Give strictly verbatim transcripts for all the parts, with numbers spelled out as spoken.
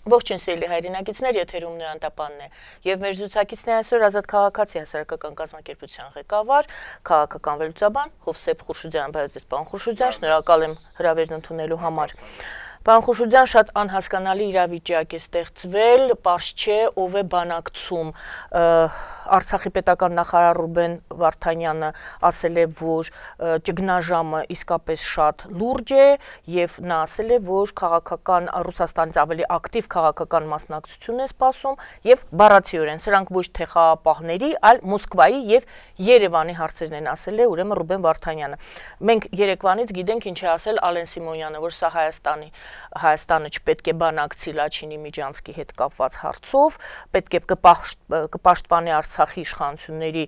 Ողջույն սիրելի հայրենակիցներ, եթերում Նոյան Տապանն է, եւ մեր զրուցակիցն է այսօր Ազատ քաղաքացի հասարակական կազմակերպության ղեկավար, քաղաքական վերլուծաբան Հովսեփ Խուրշուդյան, բայց պարոն Խուրշուդյան, շնորհակալ եմ հրավերն ընդունելու համար։ Պարոն Խուրշուդյան, շատ անհասկանալի իրավիճակ է ստեղծվել, պարզ չէ ով է բանակցում։ Արցախի պետական նախարար Ռուբեն Վարդանյանը ասել է, որ ճգնաժամը իսկապես շատ լուրջ է, եւ նա ասել է, որ քաղաքական Ռուսաստանից ավելի ակտիվ քաղաքական մասնակցություն է սպասում, եւ բառացիորեն սրանք ոչ թե խաղապահների, այլ Մոսկվայի եւ Երևանի հարցերն են, ասել է ուրեմն Ռուբեն Վարդանյանը։ Մենք երեկվանից գիտենք ինչ է ասել Ալեն Սիմոնյանը, որ սա Հայաստանի Հայաստանը չպետք է բանակցի Լաչինի Միջանցկի հետ կապված հարցով, պետք է կպաշտպանի Արցախի իշխանությունների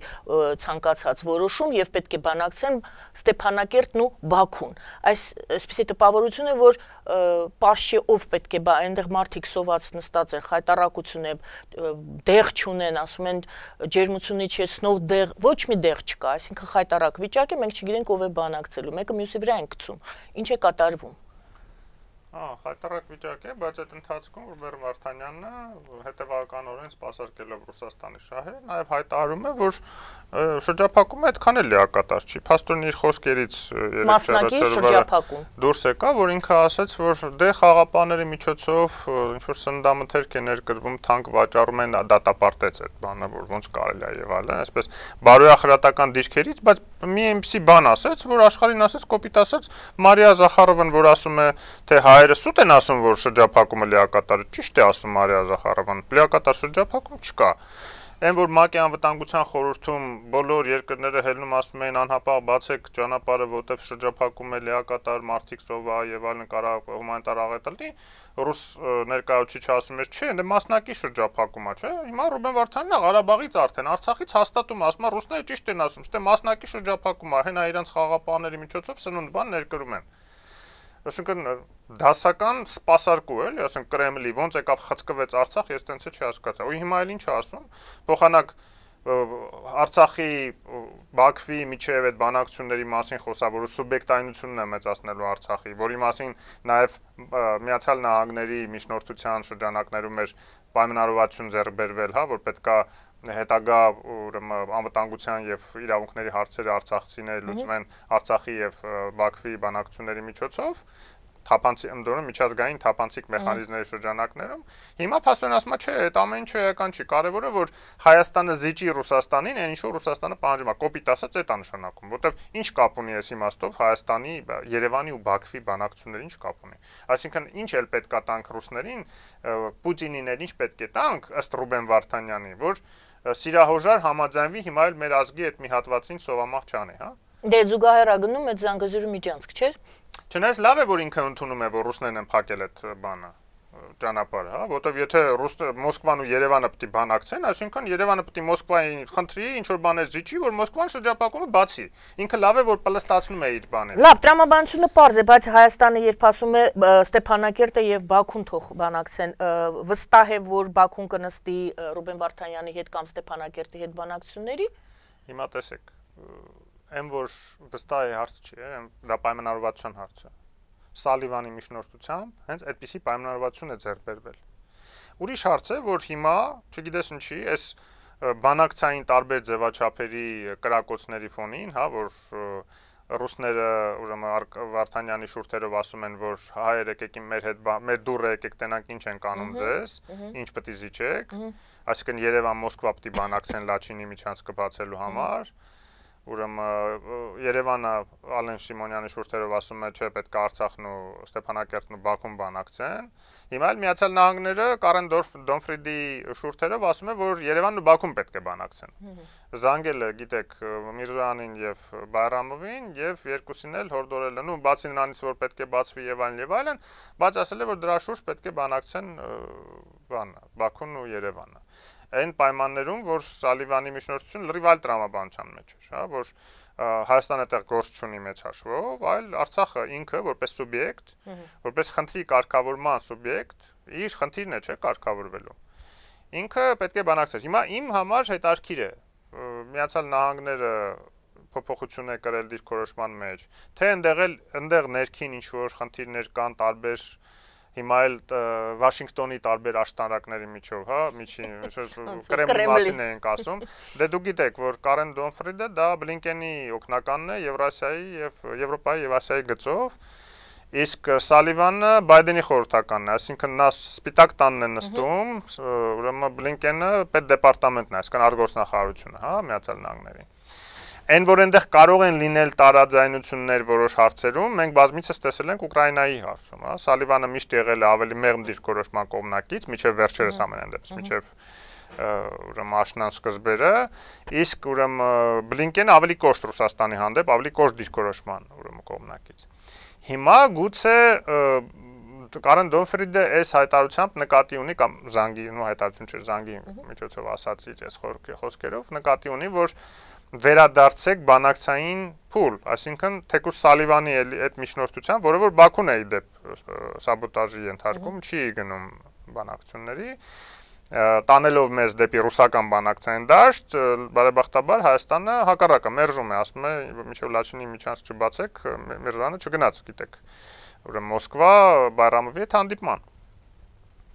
ցանկացած որոշում եւ պետք է բանակցեն Ստեփանակերտն ու Բաքուն։ Այս այսպիսի տպավորություն է, որ պարզ չէ ով պետք է բա այնտեղ մարդիկ սոված նստած են, խայտարակություն է, դեղ չունեն, ասում են ջերմությունի չեցնով դեղ, ոչ մի դեղ չկա, այսինքն խայտարակ վիճակ է, մենք չգիտենք ով է բանակցելու, մեկը մյուսի վրա են գցում։ Ինչ է կատարվում։ Ահա, խայտարակ վիճակ է, բայց այդ ընթացքում Ռուբեն Վարդանյանը հետևականորեն սպասարկելով Ռուսաստանի շահերը, նաև հայտարարում է, որ շրջափակումը այդքան էլ լիակատար չի։ Փաստորեն իր խոսքերից դուրս եկա, որ ինքը ասաց, որ դե խաղապաների միջոցով ինչ որ սննդամթերք է ներկրվում, թանկ վաճառում են, դատապարտեց այդ բանը, որ ոնց կարելի է եւ այլն, այսպես բարոյախրատական դիրքերից, բայց մի այնպիսի բան ասաց, որ աշխարհին ասաց, կոպիտ ասաց Մարիա Զախարովան, որ ասում է, թե հայերը սուտ են ասում, որ շրջափակումը լիակատար է, ճիշտ է ասում Մարիա Զախարովան, լիակատար շրջափակում չկա։ Այն որ ՄԱԿ-ի անվտանգության խորհրդում բոլոր երկրները հելնում ասում էին անհապաղ բացեք ճանապարհը, որտեղ շրջափակում է լիակատար, մարդիկ սովա եւ այլն կարող հումանիտար աղետ լինի, ռուս ներկայացուցիչը ասում էր, չէ, դե մասնակի շրջափակում է, չէ։ Հիմա Ռուբեն Վարդանյանը Ղարաբաղից արդեն Արցախից հաստատում ասում է, ռուսները ճիշտ են ասում, ստե մասնակի շրջափակում է, հենա իրենց խաղապահների միջոցով սնունդ բան ներկրում են։ Այսինքն դասական սպասարկու էլի, ասենք Կրեմլի ոնց եկավ խցկվեց Արցախ, ես տենց չի հասկացա։ Ու հիմա էլ ինչ է ասում, փոխանակ Արցախի Բաքվի միջև այդ բանակցությունների մասին խոսավորու սուբյեկտայնությունն է մեծացնելու Արցախի, որի մասին նաև Միացյալ Նահանգների միջնորդության շրջանակներում էր պայմանավորվածություն ձեռք բերվել, հա, որ պետքա հետագա ուրեմն անվտանգության եւ իրավունքների հարցերը արցախցիները լուծվեն Արցախի եւ Բաքվի բանակցությունների միջոցով, թափանցի ընդորում միջազգային թափանցիկ մեխանիզմների շրջանակներում։ Հիմա փաստորեն ասում է, չէ, այդ ամեն ինչը էական չի, կարևորը որ Հայաստանը զիջի Ռուսաստանին, այն ինչ որ Ռուսաստանը պահանջում է, կոպիտ ասած այդ անշանակում, որտեվ ինչ կապ ունի այս իմաստով Հայաստանի, Երևանի ու Բաքվի բանակցությունները ինչ կապ ունի։ Այսինքն ինչ էլ պետքա տանք ռուսներին, Պուտինին էլ ինչ պետք է տանք ըստ Ռուբեն Վարդանյանի, որ սիրահոժար համաձայնվի հիմա էլ մեր ազգի այդ մի հատվածին սովամահ չանի, հա։ Դե զուգահեռ գնում այդ Զանգեզուրի միջանցք, չէ՞։ Չնայած լավ է, որ ինքը ընդունում է, որ ռուսներն են փակել այդ բանը, ճանապարհը, հա, որտեվ եթե ռուս Մոսկվան ու Երևանը պետք է բանակցեն, այսինքն Երևանը պետք է Մոսկվային խնդրի ինչ որ բաներ զիջի, որ Մոսկվան շրջափակումը բացի։ Ինքը լավ է, որ պլստացնում է իր բաները։ Լավ, տրամաբանությունը պարզ է, բայց Հայաստանը երբ ասում է Ստեփանակերտը եւ Բաքուն թող բանակցեն, վստահ է, որ Բաքուն կնստի Ռուբեն Վարդանյանի հետ կամ Ստեփանակերտի հետ բանակցությունների։ Հիմա տեսեք, Այն որ վստահ է հարց չի, դա պայմանավորվածության հարց է։ Սալիվանի միջնորդությամբ հենց այդպիսի պայմանավորվածություն է ձեռք բերվել։ Ուրիշ հարց է, որ հիմա, չգիտես ինչի, այս բանակցային տարբեր ձևաչափերի կրակոցների ֆոնին, հա, որ ռուսները ուրեմն Վարդանյանի շուրթերով ասում են, որ հայեր եկեք մեր հետ մեր դուռը եկեք տենանք ինչ են կանում ձեզ, ինչ պետք է զիջեք, այսինքն Երևան Մոսկվա պետք է բանակցեն Լաչինի միջանցքը բացելու համար։ Ուրեմն Երևանը Ալեն Սիմոնյանի շուրթերով ասում է, չէ, պետք է Արցախն ու Ստեփանակերտն ու Բաքուն բանակցեն։ Հիմա էլ Միացյալ Նահանգները Կարեն Դոնֆրիդի շուրթերով ասում է, որ Երևանն ու Բաքուն պետք է բանակցեն։ Զանգել է, գիտեք, Միրզոյանին եւ Բայրամովին եւ երկուսին էլ հորդորել են, ու բացի նրանից, որ պետք է բացվի եւ այլն եւ այլն, բայց ասել է, որ դրա շուրջ պետք է բանակցեն բանը, Բաքուն ու Երևանը։ Այն պայմաններում, որ Սալիվանի միջնորդությունը լրիվ այլ տրամաբանության մեջ էր, հա, որ Հայաստանը այդտեղ գործ չունի մեծ հաշվով, այլ Արցախը ինքը որպես սուբյեկտ, որպես խնդրի կարգավորման սուբյեկտ, իր խնդիրն է, չէ, կարգավորվելու։ Ինքը պետք է բանակցեր։ Հիմա իմ համար հետաքրքիր է Միացյալ Նահանգները փոփոխություն է կրել դիրքորոշման մեջ, թե ընդեղ էլ ընդեղ ներքին ինչ որ խնդիրներ կան տարբեր հիմա էլ Վաշինգտոնի տարբեր աշտարակների միջով, հա, միջին, Կրեմլի մասին ենք ասում։ Դե դուք գիտեք, որ Կարեն Դոնֆրիդը դա Բլինկենի օգնականն է Եվրասիայի եւ Եվրոպայի եւ Ասիայի գծով, իսկ Սալիվանը Բայդենի խորհրդականն է, այսինքն նա սպիտակ տանն է նստում, ուրեմն Բլինկենը պետդեպարտամենտն է, այսինքն արտգործնախարարությունը, հա, Միացյալ Նահանգների։ Այն որ այնտեղ կարող են լինել տարաձայնություններ որոշ հարցերում, մենք բազմիցս տեսել ենք Ուկրաինայի հարցում, հա, Սալիվանը միշտ եղել է ավելի մեղմ դիրքորոշման կողմնակից, միջև վերջերս ամենայն դեպս, միջև ուրեմն աշնան սկզբերը, իսկ ուրեմն Բլինկենը ավելի կոշտ Ռուսաստանի հանդեպ, ավելի կոշտ դիրքորոշման ուրեմն կողմնակից։ Հիմա գուցե Կարեն Դոնֆրիդը այս հայտարարությամբ նկատի ունի կամ զանգի, նո հայտարարություն չէ, զանգի միջոցով ասած իր այս խոսքերով նկատի ունի, որ վերադարձեք բանակցային փուլ, այսինքն թեկուզ Սալիվանի այդ միջնորդությամբ, որը որ Բաքուն է ի դեպ սաբոտաժի ենթարկում, չի գնում բանակցությունների, տանելով մեզ դեպի ռուսական բանակցային դաշտ, բարեբախտաբար Հայաստանը հակառակը մերժում է, ասում է, մինչև Լաչինի միջանցք չբացեք, Միրզյանը չգնաց, գիտեք, ուրեմն Մոսկվա Բայրամովի հետ հանդիպման։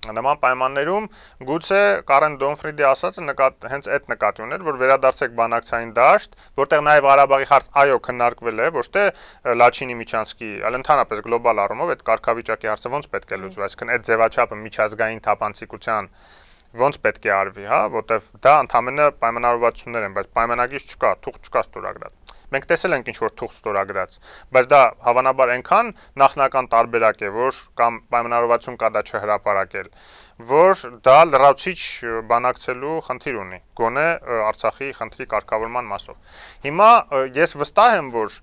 Նման պայմաններում գուցե Կարեն Դոնֆրիդի ասածը նկատ հենց այդ նկատի ուներ, որ վերադարձեք բանակցային դաշտ, որտեղ նաև Ղարաբաղի հարց այո քննարկվել է, ոչ թե Լաչինի միջանցքի, այլ ընդհանրապես գլոբալ առումով այդ կարգավիճակի հարցը ոնց պետք է լուծվի, այսինքն այդ ձևաչափը միջազգային թափանցիկության ոնց պետք է արվի, հա, որտեղ դա ընդհանրապես պայմանավորվածություններ են, բայց պայմանագիր չկա, թուղթ չկա ստորագրած։ Մենք տեսել ենք ինչ որ թուղթ ստորագրած, բայց դա հավանաբար այնքան նախնական տարբերակ է, որ կամ պայմանավորվածություն կա դա չհրապարակել, որ դա լրացուցիչ բանակցելու խնդիր ունի, գոնե Արցախի խնդրի կարգավորման մասով։ Հիմա ես վստահ եմ, որ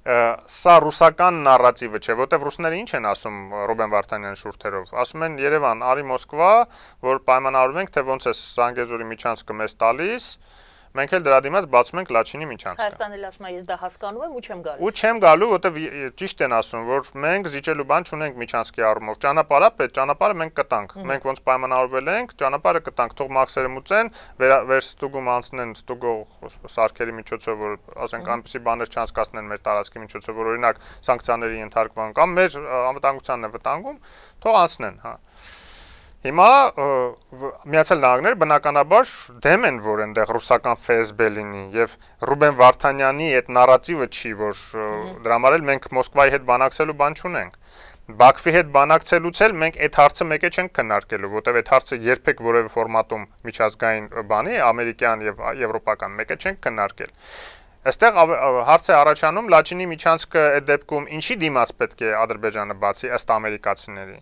սա ռուսական նարատիվը չէ, որտեվ ռուսները ինչ են ասում Ռուբեն Վարդանյանի շուրթերով, ասում են Երևան, արի Մոսկվա, որ պայմանավորվենք, թե ոնց է Զանգեզուրի միջանցքը մեզ տալիս, մենք էլ դրա դիմաց բացում ենք Լաչինի միջանցքը։ Հայաստանը էլ ասում է, ես դա հասկանում եմ ու չեմ գալիս։ Ու չեմ գալու, որտեվ ճիշտ են ասում, որ մենք զիջելու բան չունենք միջանցքի առումով։ Ճանապարհը պետք, ճանապարհը մենք կտանք։ Մենք ոնց պայմանավորվել ենք, ճանապարհը կտանք, թող մաքսերը մուծեն, վերստուգում անցնեն ստուգող սարքերի միջոցով, որ ասենք այնպեսի բաներ չանցկացնեն մեր տարածքի միջոցով, որ օրինակ սանկցիաների ենթարկվան կամ մեր անվտանգությանն է վտանգում, թող անցնեն, հա։ Հիմա Միացյալ Նահանգները բնականաբար դեմ են, որ այնտեղ ռուսական Ֆ S B լինի եւ Ռուբեն Վարդանյանի այդ նարատիվը չի, որ դրա համար էլ մենք Մոսկվայի հետ բանակցելու բան չունենք։ Բաքվի հետ բանակցելուց էլ մենք այդ հարցը մեկը չենք քննարկելու, որտեվ այդ հարցը երբեք որևէ ֆորմատում միջազգային բանի, ամերիկյան եւ եվրոպական մեկը չենք քննարկել։ Այստեղ հարց է առաջանում Լաչինի միջանցքը այդ դեպքում ինչի դիմաց պետք է Ադրբեջանը բացի ըստ ամերիկացիների,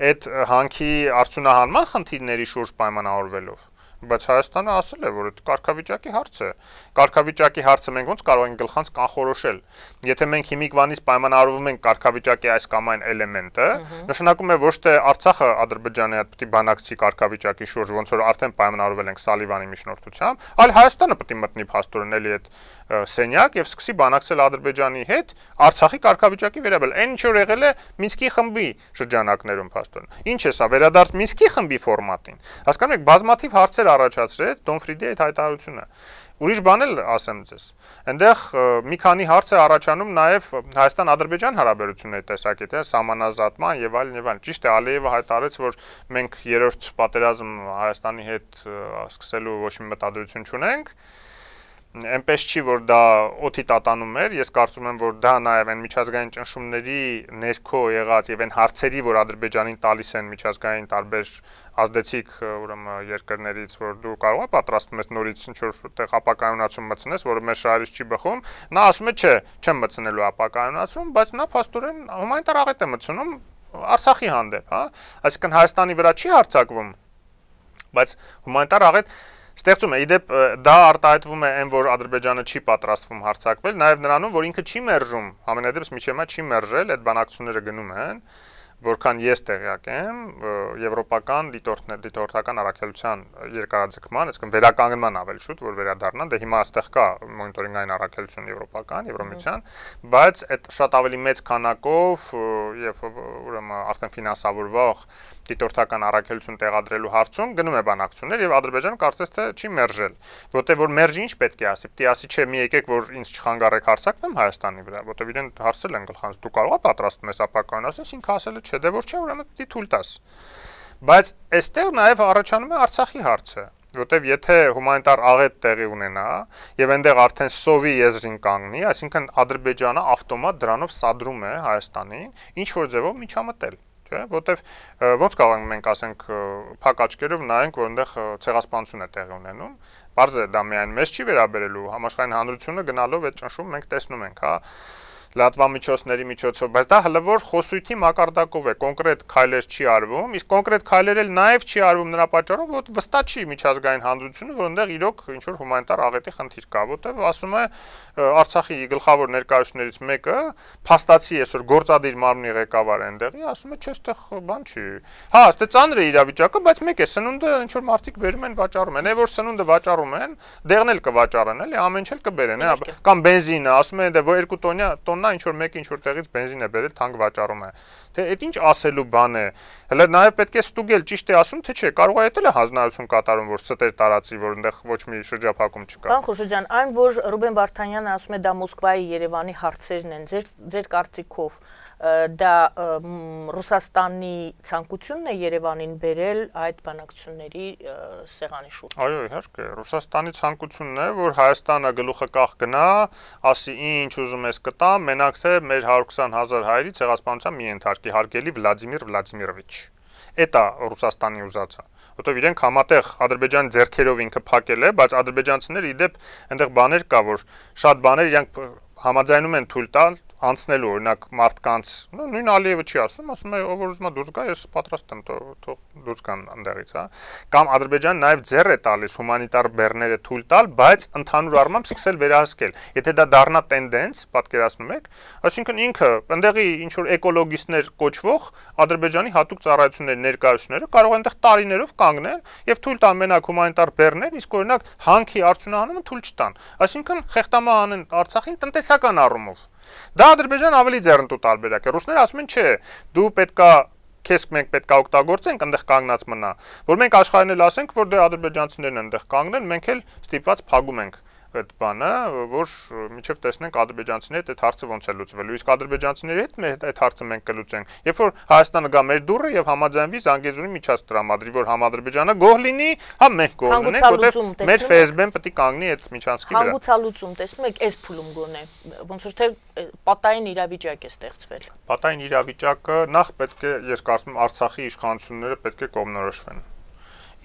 այդ հանքի արդյունահանման խնդիրների շուրջ պայմանավորվելով, բայց Հայաստանը ասել է, որ այդ կարգավիճակի հարց է։ Կարգավիճակի հարցը մենք ոնց կարող ենք գլխանց կանխորոշել։ Եթե մենք հիմիկվանից պայմանավորվում ենք կարգավիճակի այս կամ այն էլեմենտը, նշանակում է ոչ թե Արցախը Ադրբեջանի հետ պետք է բանակցի կարգավիճակի շուրջ, ոնց որ արդեն պայմանավորվել ենք Սալիվանի միջնորդությամբ, այլ Հայաստանը պետք է մտնի փաստորեն էլի այդ սենյակ եւ սկսի բանակցել Ադրբեջանի հետ Արցախի կարգավիճակի վերաբերյալ։ Այն ինչ որ եղել է Մինսկի խմբի շրջանակներում փաստորեն։ Ինչ է սա վերադարձ Մինսկի խմբի ֆորմատին։ Հասկանում եք, բազմաթիվ հարցեր առաջացրեց Դոնֆրիդի այդ հայտարարությունը։ Ուրիշ բան էլ ասեմ ձեզ։ Այնտեղ մի քանի հարց է առաջանում նաև Հայաստան-Ադրբեջան հարաբերությունների տեսակետը, սահմանազատման եւ այլն եւ այլն։ Ճիշտ է, Ալիևը հայտարարեց, որ մենք երրորդ պատերազմ Հայաստանի հետ սկսելու ոչ մի մտադրություն չունենք։ Այնպես չի, որ դա օդի տատանում էր, ես կարծում եմ, որ դա նաև այն միջազգային ճնշումների ներքո եղած եւ այն հարցերի, որ Ադրբեջանին տալիս են միջազգային տարբեր ազդեցիկ ուրեմն երկրներից, որ դու կարող ես պատրաստում ես նորից ինչ-որ տեղ ապակայունացում մտցնես, որը մեր շահերից չի բխում, նա ասում է, չէ, չեմ մտցնելու ապակայունացում, բայց նա փաստորեն հումանիտար աղետ է մտցնում Արցախի հանդեպ, հա, այսինքն Հայաստանի վրա չի հարձակվում, բայց հումանիտար աղետ ստեղծում է, իդեպ դա արտահայտվում է այն, որ Ադրբեջանը չի պատրաստվում հարձակվել, նաև նրանում, որ ինքը չի մերժում, համենայնդեպս միջև հիմա չի մերժել, այդ բանակցությունները գնում են, որքան ես տեղյակ եմ, եվրոպական դիտորդական առաքելության երկարաձգման, այսինքն վերականգնման ավելի շուտ, որ վերադառնան, դե հիմա այստեղ կա մոնիտորինգային առաքելություն եվրոպական, Եվրոմիության, բայց այդ շատ ավելի մեծ քանակով եւ ուրեմն արդեն ֆինանսավորվող դիտորդական առաքելություն տեղադրելու հարցում գնում է բանակցություններ եւ Ադրբեջանը կարծես թե չի մերժել, որտեղ որ մերժի ինչ պետք է ասի, պետք է ասի, չէ, մի եկեք որ ինձ չխանգարեք հարձակվեմ Հայաստանի վրա, որտեղ իրեն հարցել են գլխանց, դու կարող ես պատրաստում ես ապակայուն, ասես ինքը ասել է չէ, դե որ չէ, ուրեմն դի թույլ տաս։ Բայց այստեղ նաև առաջանում է Արցախի հարցը, որտեվ եթե հումանիտար աղետ տեղի ունենա եւ այնտեղ արդեն սովի եզրին կանգնի, այսինքն Ադրբեջանը ավտոմատ դրանով սադրում է Հայաստանին ինչ որ ձևով միջամտել, չէ՞, որտեվ ոնց կարող ենք մենք ասենք փակ աչքերով նայենք, որ այնտեղ ցեղասպանություն է տեղի ունենում, բարձր է դա միայն մեզ չի վերաբերելու, համաշխարհային հանրությունը գնալով այդ ճնշում մենք տեսնում ենք, հա լատվամիջոցների միջոցով, բայց դա հլվոր խոսույթի մակարդակով է, կոնկրետ քայլեր չի արվում, իսկ կոնկրետ քայլեր էլ նաև չի արվում նրա պատճառով, որ վստահ չի միջազգային հանրությունը, որ այնտեղ իրոք ինչ որ հումանիտար աղետի խնդիր կա, որտեղ ասում է Արցախի գլխավոր ներկայացուցիչներից մեկը, փաստացի այսօր գործադիր մարմնի ղեկավարը այնտեղի, ասում է, չէ, այստեղ բան չի։ Հա, այստեղ ծանր է իրավիճակը, բայց մեկ է, սնունդը ինչ որ մարդիկ բերում են, վաճառում են, այ որ սնունդը վաճառում են, դեղն էլ կվաճառեն, էլի, ամեն ինչ էլ կբերեն, հա, կամ բենզինը, ասում են, դե որ երկու տոննա տոննա ինչ որ մեկը ինչ որ տեղից բենզին է բերել, թանկ վաճառում է։ Թե այդ ինչ ասելու բան է։ Հələ նաև պետք է ստուգել, ճիշտ է ասում, թե չէ, կարող է այդել է հանձնարարություն կատարում, որ ստեր տարածի, որ այնտեղ ոչ մի շրջափակում չկա։ Պարոն Խուշուջյան, այն որ Ռուբեն Վարդանյանը ասում է դա Մոսկվայի, Երևանի հարցերն են, ձեր ձեր կարծիքով դա Ռուսաստանի ցանկությունն է Երևանին բերել այդ բանակցությունների սեղանի շուրջ։ Այո, իհարկե, Ռուսաստանի ցանկությունն է, որ Հայաստանը գլուխը կախ գնա, ասի ինչ ուզում ես կտամ, մենակ թե մեր հարյուր քսան հազար հայերի ցեղասպանության մի ենթարկի, հարգելի Վլադիմիր Վլադիմիրովիչ։ Էտա Ռուսաստանի ուզածը, որտեղ իրենք համատեղ Ադրբեջանի ձեռքերով ինքը փակել է, բայց ադրբեջանցիները իդեպ այնտեղ բաներ կա, որ շատ բաներ իրենք համաձայնում են թույլ տալ անցնելու, օրինակ մարդկանց, նույն Ալիևը չի ասում, ասում է, ով որ ուզում է դուրս գա, ես պատրաստ եմ, թող դուրս գան այնտեղից, հա։ Կամ Ադրբեջանը նաև ձեռ է տալիս հումանիտար բեռները թույլ տալ, բայց ընդհանուր առմամբ սկսել վերահսկել։ Եթե դա դառնա տենդենս, պատկերացնում եք, այսինքն ինքը այնտեղի ինչ որ էկոլոգիստներ կոչվող Ադրբեջանի հատուկ ծառայությունների ներկայացուցիչները կարող են այնտեղ տարիներով կանգնեն եւ թույլ տան մենակ հումանիտար բեռներ, իսկ օրինակ հանքի արդյունահանումը թույլ չտան։ Այսինքն խեղտամա անեն Արցախին տնտեսական առումով։ Դա Ադրբեջան ավելի ձեռնտու տարբերակ է։ Ռուսները ասում են, չէ, դու պետքա քեզ մենք պետքա օգտագործենք, այնտեղ կանգնած մնա, որ մենք աշխարհին էլ ասենք, որ դե ադրբեջանցիներն այնտեղ կանգնեն, մենք էլ ստիպված փակում ենք այդ բանը, որ միջև տեսնենք ադրբեջանցիների այդ հարցը ոնց է լուծվելու։ Իսկ ադրբեջանցիների հետ այդ հարցը մենք կլուծենք։ Երբ որ Հայաստանը գա մեր դուռը եւ համաձայնվի Զանգեզուրի միջած տրամադրի, որ համադրբեջանը գոհ լինի, հա մենք գոհ լինենք, որտեղ մեր Ֆ Ս Բ-ն պետք է կանգնի այդ միջանցքի վրա։ Հանգուցալուծում, տեսնում եք, այս փուլում գոնե, ոնց որ թե պատային իրավիճակ է ստեղծվել։ Պատային իրավիճակը նախ պետք է, ես կարծում եմ, Արցախի իշխանությունները պետք է կողմնորոշվեն։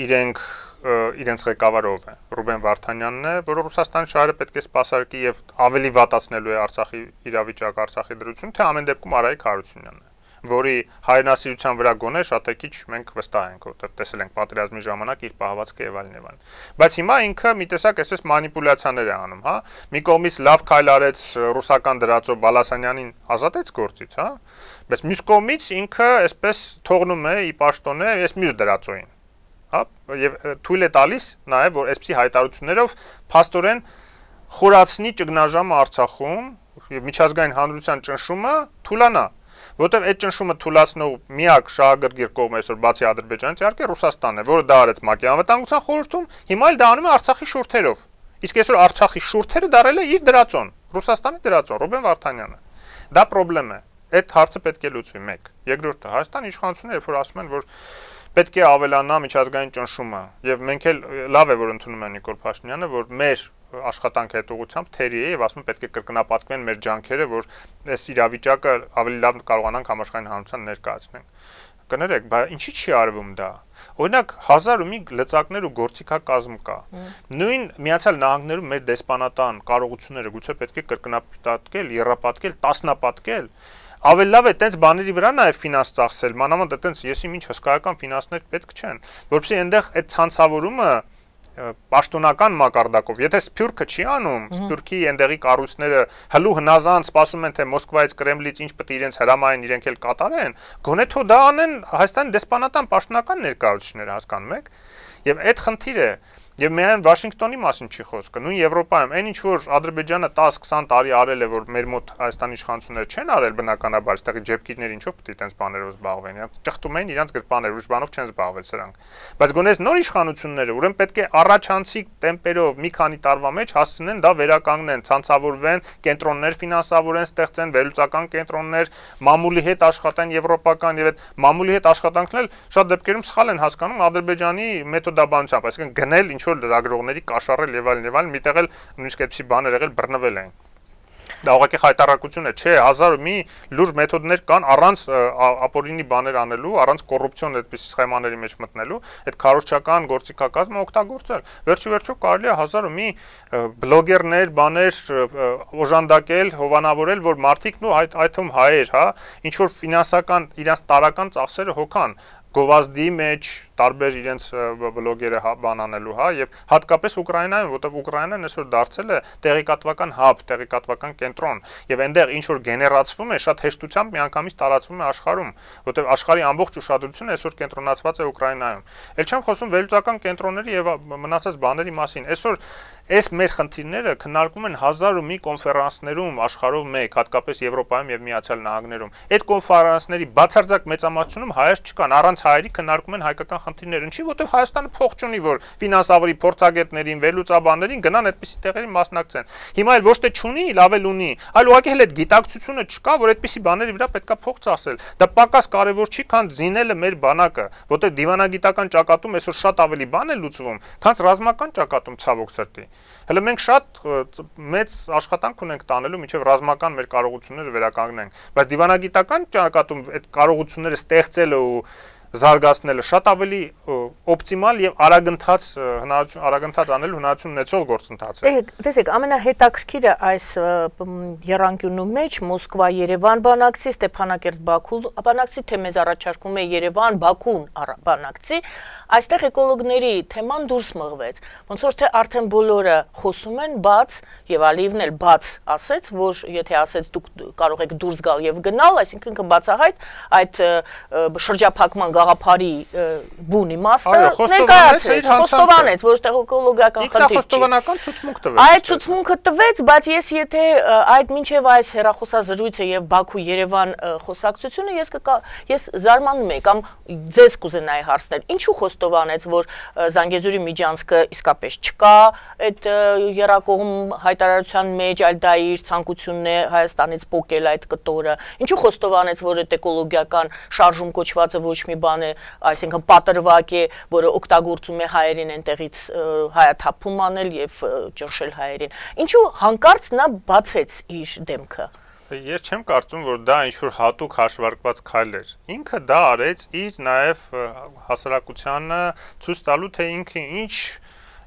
Իրենք իրենց ղեկավարով է Ռուբեն Վարդանյանն է, որը Ռուսաստանի շահերը պետք է սպասարկի եւ ավելի վատացնելու է Արցախի իրավիճակը, Արցախի դրությունը, թե ամեն դեպքում Արայիկ Հարությունյանն է, որի հայրենասիրության վրա գոնե շատ է քիչ մենք վստահ ենք, որտեղ տեսել ենք պատերազմի ժամանակ իր պահվածքը եւ այլն եւ այլն։ Բայց հիմա ինքը մի տեսակ այսպես մանիպուլյացիաներ է անում, հա։ Մի կողմից լավ քայլ արեց ռուսական դրածո Բալասանյանին ազատեց գործից, հա։ Բայց մյուս կողմից ինքը այսպես թողնում է ի պաշտոն է այս մյուս դրածոին։ Հա, եւ թույլ է տալիս նաեւ որ այսպիսի հայտարարություններով փաստորեն խորացնի ճգնաժամը Արցախում եւ միջազգային հանրության ճնշումը թուլանա, որտեղ այդ ճնշումը թուլացնող միակ շահագրգիռ կողմը այսօր բացի Ադրբեջանից իհարկե Ռուսաստանն է, որը դա արեց ՄԱԿ-ի անվտանգության խորհրդում, հիմա էլ դա անում է Արցախի շուրթերով։ Իսկ այսօր Արցախի շուրթերը դարել է իր դրածոն, Ռուսաստանի դրածոն, Ռուբեն Վարդանյանը։ Դա խնդրեմ է։ Այդ հարցը պետք է լուծվի մեկ։ Երկրորդը Հայաստանի իշխանությունները երբ որ ասում են որ պետք է ավելանա միջազգային ճնշումը եւ մենք էլ լավ է որ ընդունում են Նիկոլ Փաշինյանը որ մեր աշխատանքը այդ ուղղությամբ թերի է եւ ասում են պետք է կրկնապատկվեն մեր ջանքերը որ այս իրավիճակը ավելի լավ կարողանանք համաշխարհային հանրության ներկայացնենք կներեք բայց ինչի՞ չի արվում դա օրինակ հազար ու մի լծակներ ու գործիքակազմ կա նույն Միացյալ Նահանգներում մեր դեսպանատան կարողությունները գուցե պետք է կրկնապատկել եռապատկել տասնապատկել Ավելի լավ է տենց բաների վրա նաև ֆինանս ծախսել, մանավանդ այտենց եսի ինչ հսկայական ֆինանսներ պետք չեն, որովհետեւ այնտեղ այդ ցանցավորումը պաշտոնական մակարդակով, եթե Սփյուռքը չի անում, Սփյուռքի այնտեղի կառույցները հլու հնազանդ սպասում են թե Մոսկվայից Կրեմլից ինչ պետք է իրենց հրամայեն, իրենք էլ կատարեն, գոնե թող դա անեն Հայաստանի դեսպանատան պաշտոնական ներկայացուցիչները, հասկանում եք, եւ այդ խնդիրը Եվ միայն Վաշինգտոնի մասին չի խոսքը, նույն Եվրոպայում, այն ինչ որ Ադրբեջանը տասը քսան տարի արել է, որ մեր մոտ Հայաստանի իշխանությունները չեն արել բնականաբար, այստեղի ջեփկիները ինչով պետք է տենց բաներով զբաղվեն, իրենք ճխտում են իրենց գրպաները, ուրիշ բանով չեն զբաղվել սրանք։ Բայց գոնե նոր իշխանությունները, ուրեմն պետք է առաջանցիկ տեմպերով մի քանի տարվա մեջ հասցնեն դա վերականգնեն, ցանցավորվեն, կենտրոններ ֆինանսավորեն, ստեղծեն վերլուծական կենտրոններ, մամուլի հետ աշխատեն եվրոպական եւ այդ մամուլի հետ աշխատանքն էլ շատ դեպքերում սխալ են հասկանում Ադրբեջանի մեթոդաբանությամբ, այսինքն գնել ինչ որ լրագրողների կաշառել եւ այլն եւ այլն, միտեղ էլ նույնիսկ այդպիսի բաներ եղել բռնվել են։ Դա ուղղակի խայտարակություն է, չէ, հազար մի լուրջ մեթոդներ կան առանց ապօրինի բաներ անելու, առանց կոռուպցիոն այդպիսի սխեմաների մեջ մտնելու, այդ քարոզչական գործիքակազմը օգտագործել։ Վերջի վերջո կարելի է հազար մի բլոգերներ, բաներ օժանդակել, հովանավորել, որ մարդիկ նո այդ այդում հայեր, հա, ինչ որ ֆինանսական իրենց տարական ծախսերը հոգան գովազդի մեջ տարբեր իրենց բլոգերը բանանելու, հա, եւ հատկապես Ուկրաինայում, որտեղ Ուկրաինան այսօր դարձել է տեղեկատվական հաբ, տեղեկատվական կենտրոն, եւ այնտեղ ինչ որ գեներացվում է, շատ հեշտությամբ միանգամից տարածվում է աշխարհում, որտեղ աշխարհի ամբողջ ուշադրությունը այսօր կենտրոնացված է Ուկրաինայում։ Էլ չեմ խոսում վերլուծական կենտրոնների եւ մնացած բաների մասին։ Այսօր այս մեր խնդիրները քննարկվում են հազար ու մի կոնֆերանսներում աշխարհով մեկ, հատկապես Եվրոպայում եւ Միացյալ Նահանգներում։ Այդ կոնֆերանսների բացարձակ մեծամասնությունում հայեր չկան, առանց հայերի քննարկում են հայկական խնդիրներ։ Ինչի, որտեղ Հայաստանը փող չունի, որ ֆինանսավորի փորձագետներին, վերլուծաբաններին գնան այդպիսի տեղերի մասնակցեն։ Հիմա էլ ոչ թե չունի, լավ էլ ունի, այլ ուղղակի հենց այդ գիտակցությունը չկա, որ այդպիսի բաների վրա պետքա փող ծախսել։ Դա պակաս կարևոր չի, քան զինելը մեր բանակը, որտեղ դիվանագիտական ճակատում այսօր շատ ավելի բան է լուծվում, քան ռազմական ճակատում ցավոք սրտի։ Հələ մենք շատ մեծ աշխատանք ունենք տանելու միջև ռազմական մեր կարողությունները վերականգնենք, բայց դիվանագիտական ճակատում այդ կարողությունները ստեղծելը ու զարգացնելը շատ ավելի օպտիմալ եւ արագընթաց հնարություն արագընթաց անելու հնարություն ունեցող գործընթաց է։ Տեսեք, ամենահետաքրքիրը այս եռանկյունու մեջ Մոսկվա-Երևան բանակցի, Ստեփանակերտ-Բաքու բանակցի, թե մեզ առաջարկում է Երևան-Բաքուն բանակցի, այստեղ էկոլոգների թեման դուրս մղվեց։ Ոնց որ թե արդեն բոլորը խոսում են բաց եւ Ալիևն էլ բաց ասեց, որ եթե ասեց դուք կարող եք դուրս գալ եւ գնալ, այսինքն բացահայտ այդ շրջափակման գաղափարի բուն իմաստը ներկայացրեց, խոստովանեց, որ տեղ էկոլոգիական խնդիր չի։ Խոստովանական ցուցմունք տվեց։ Այդ ցուցմունքը տվեց, բայց ես եթե այդ մինչև այս հեռախոսազրույցը եւ Բաքու-Երևան խոսակցությունը ես ես զարմանում եմ կամ ձեզ կուզենայի հարցնել, ինչու խոստովանեց, որ Զանգեզուրի միջանցքը իսկապես չկա, այդ երակողմ հայտարարության մեջ, այլ դա իր ցանկությունն է Հայաստանից փոկել այդ կտորը։ Ինչու խոստովանեց, որ այդ էկոլոգիական շարժում կոչվածը ոչ մի բան է, այսինքն պատրվակ է, որը օգտագործում է հայերին այնտեղից հայաթափում անել եւ ճնշել հայերին։ Ինչու հանկարծ նա բացեց իր դեմքը։ Ես չեմ կարծում, որ դա ինչ-որ հատուկ հաշվարկված քայլ էր։ Ինքը դա արեց իր նաև հասարակությանը ցույց տալու, թե ինքը ինչ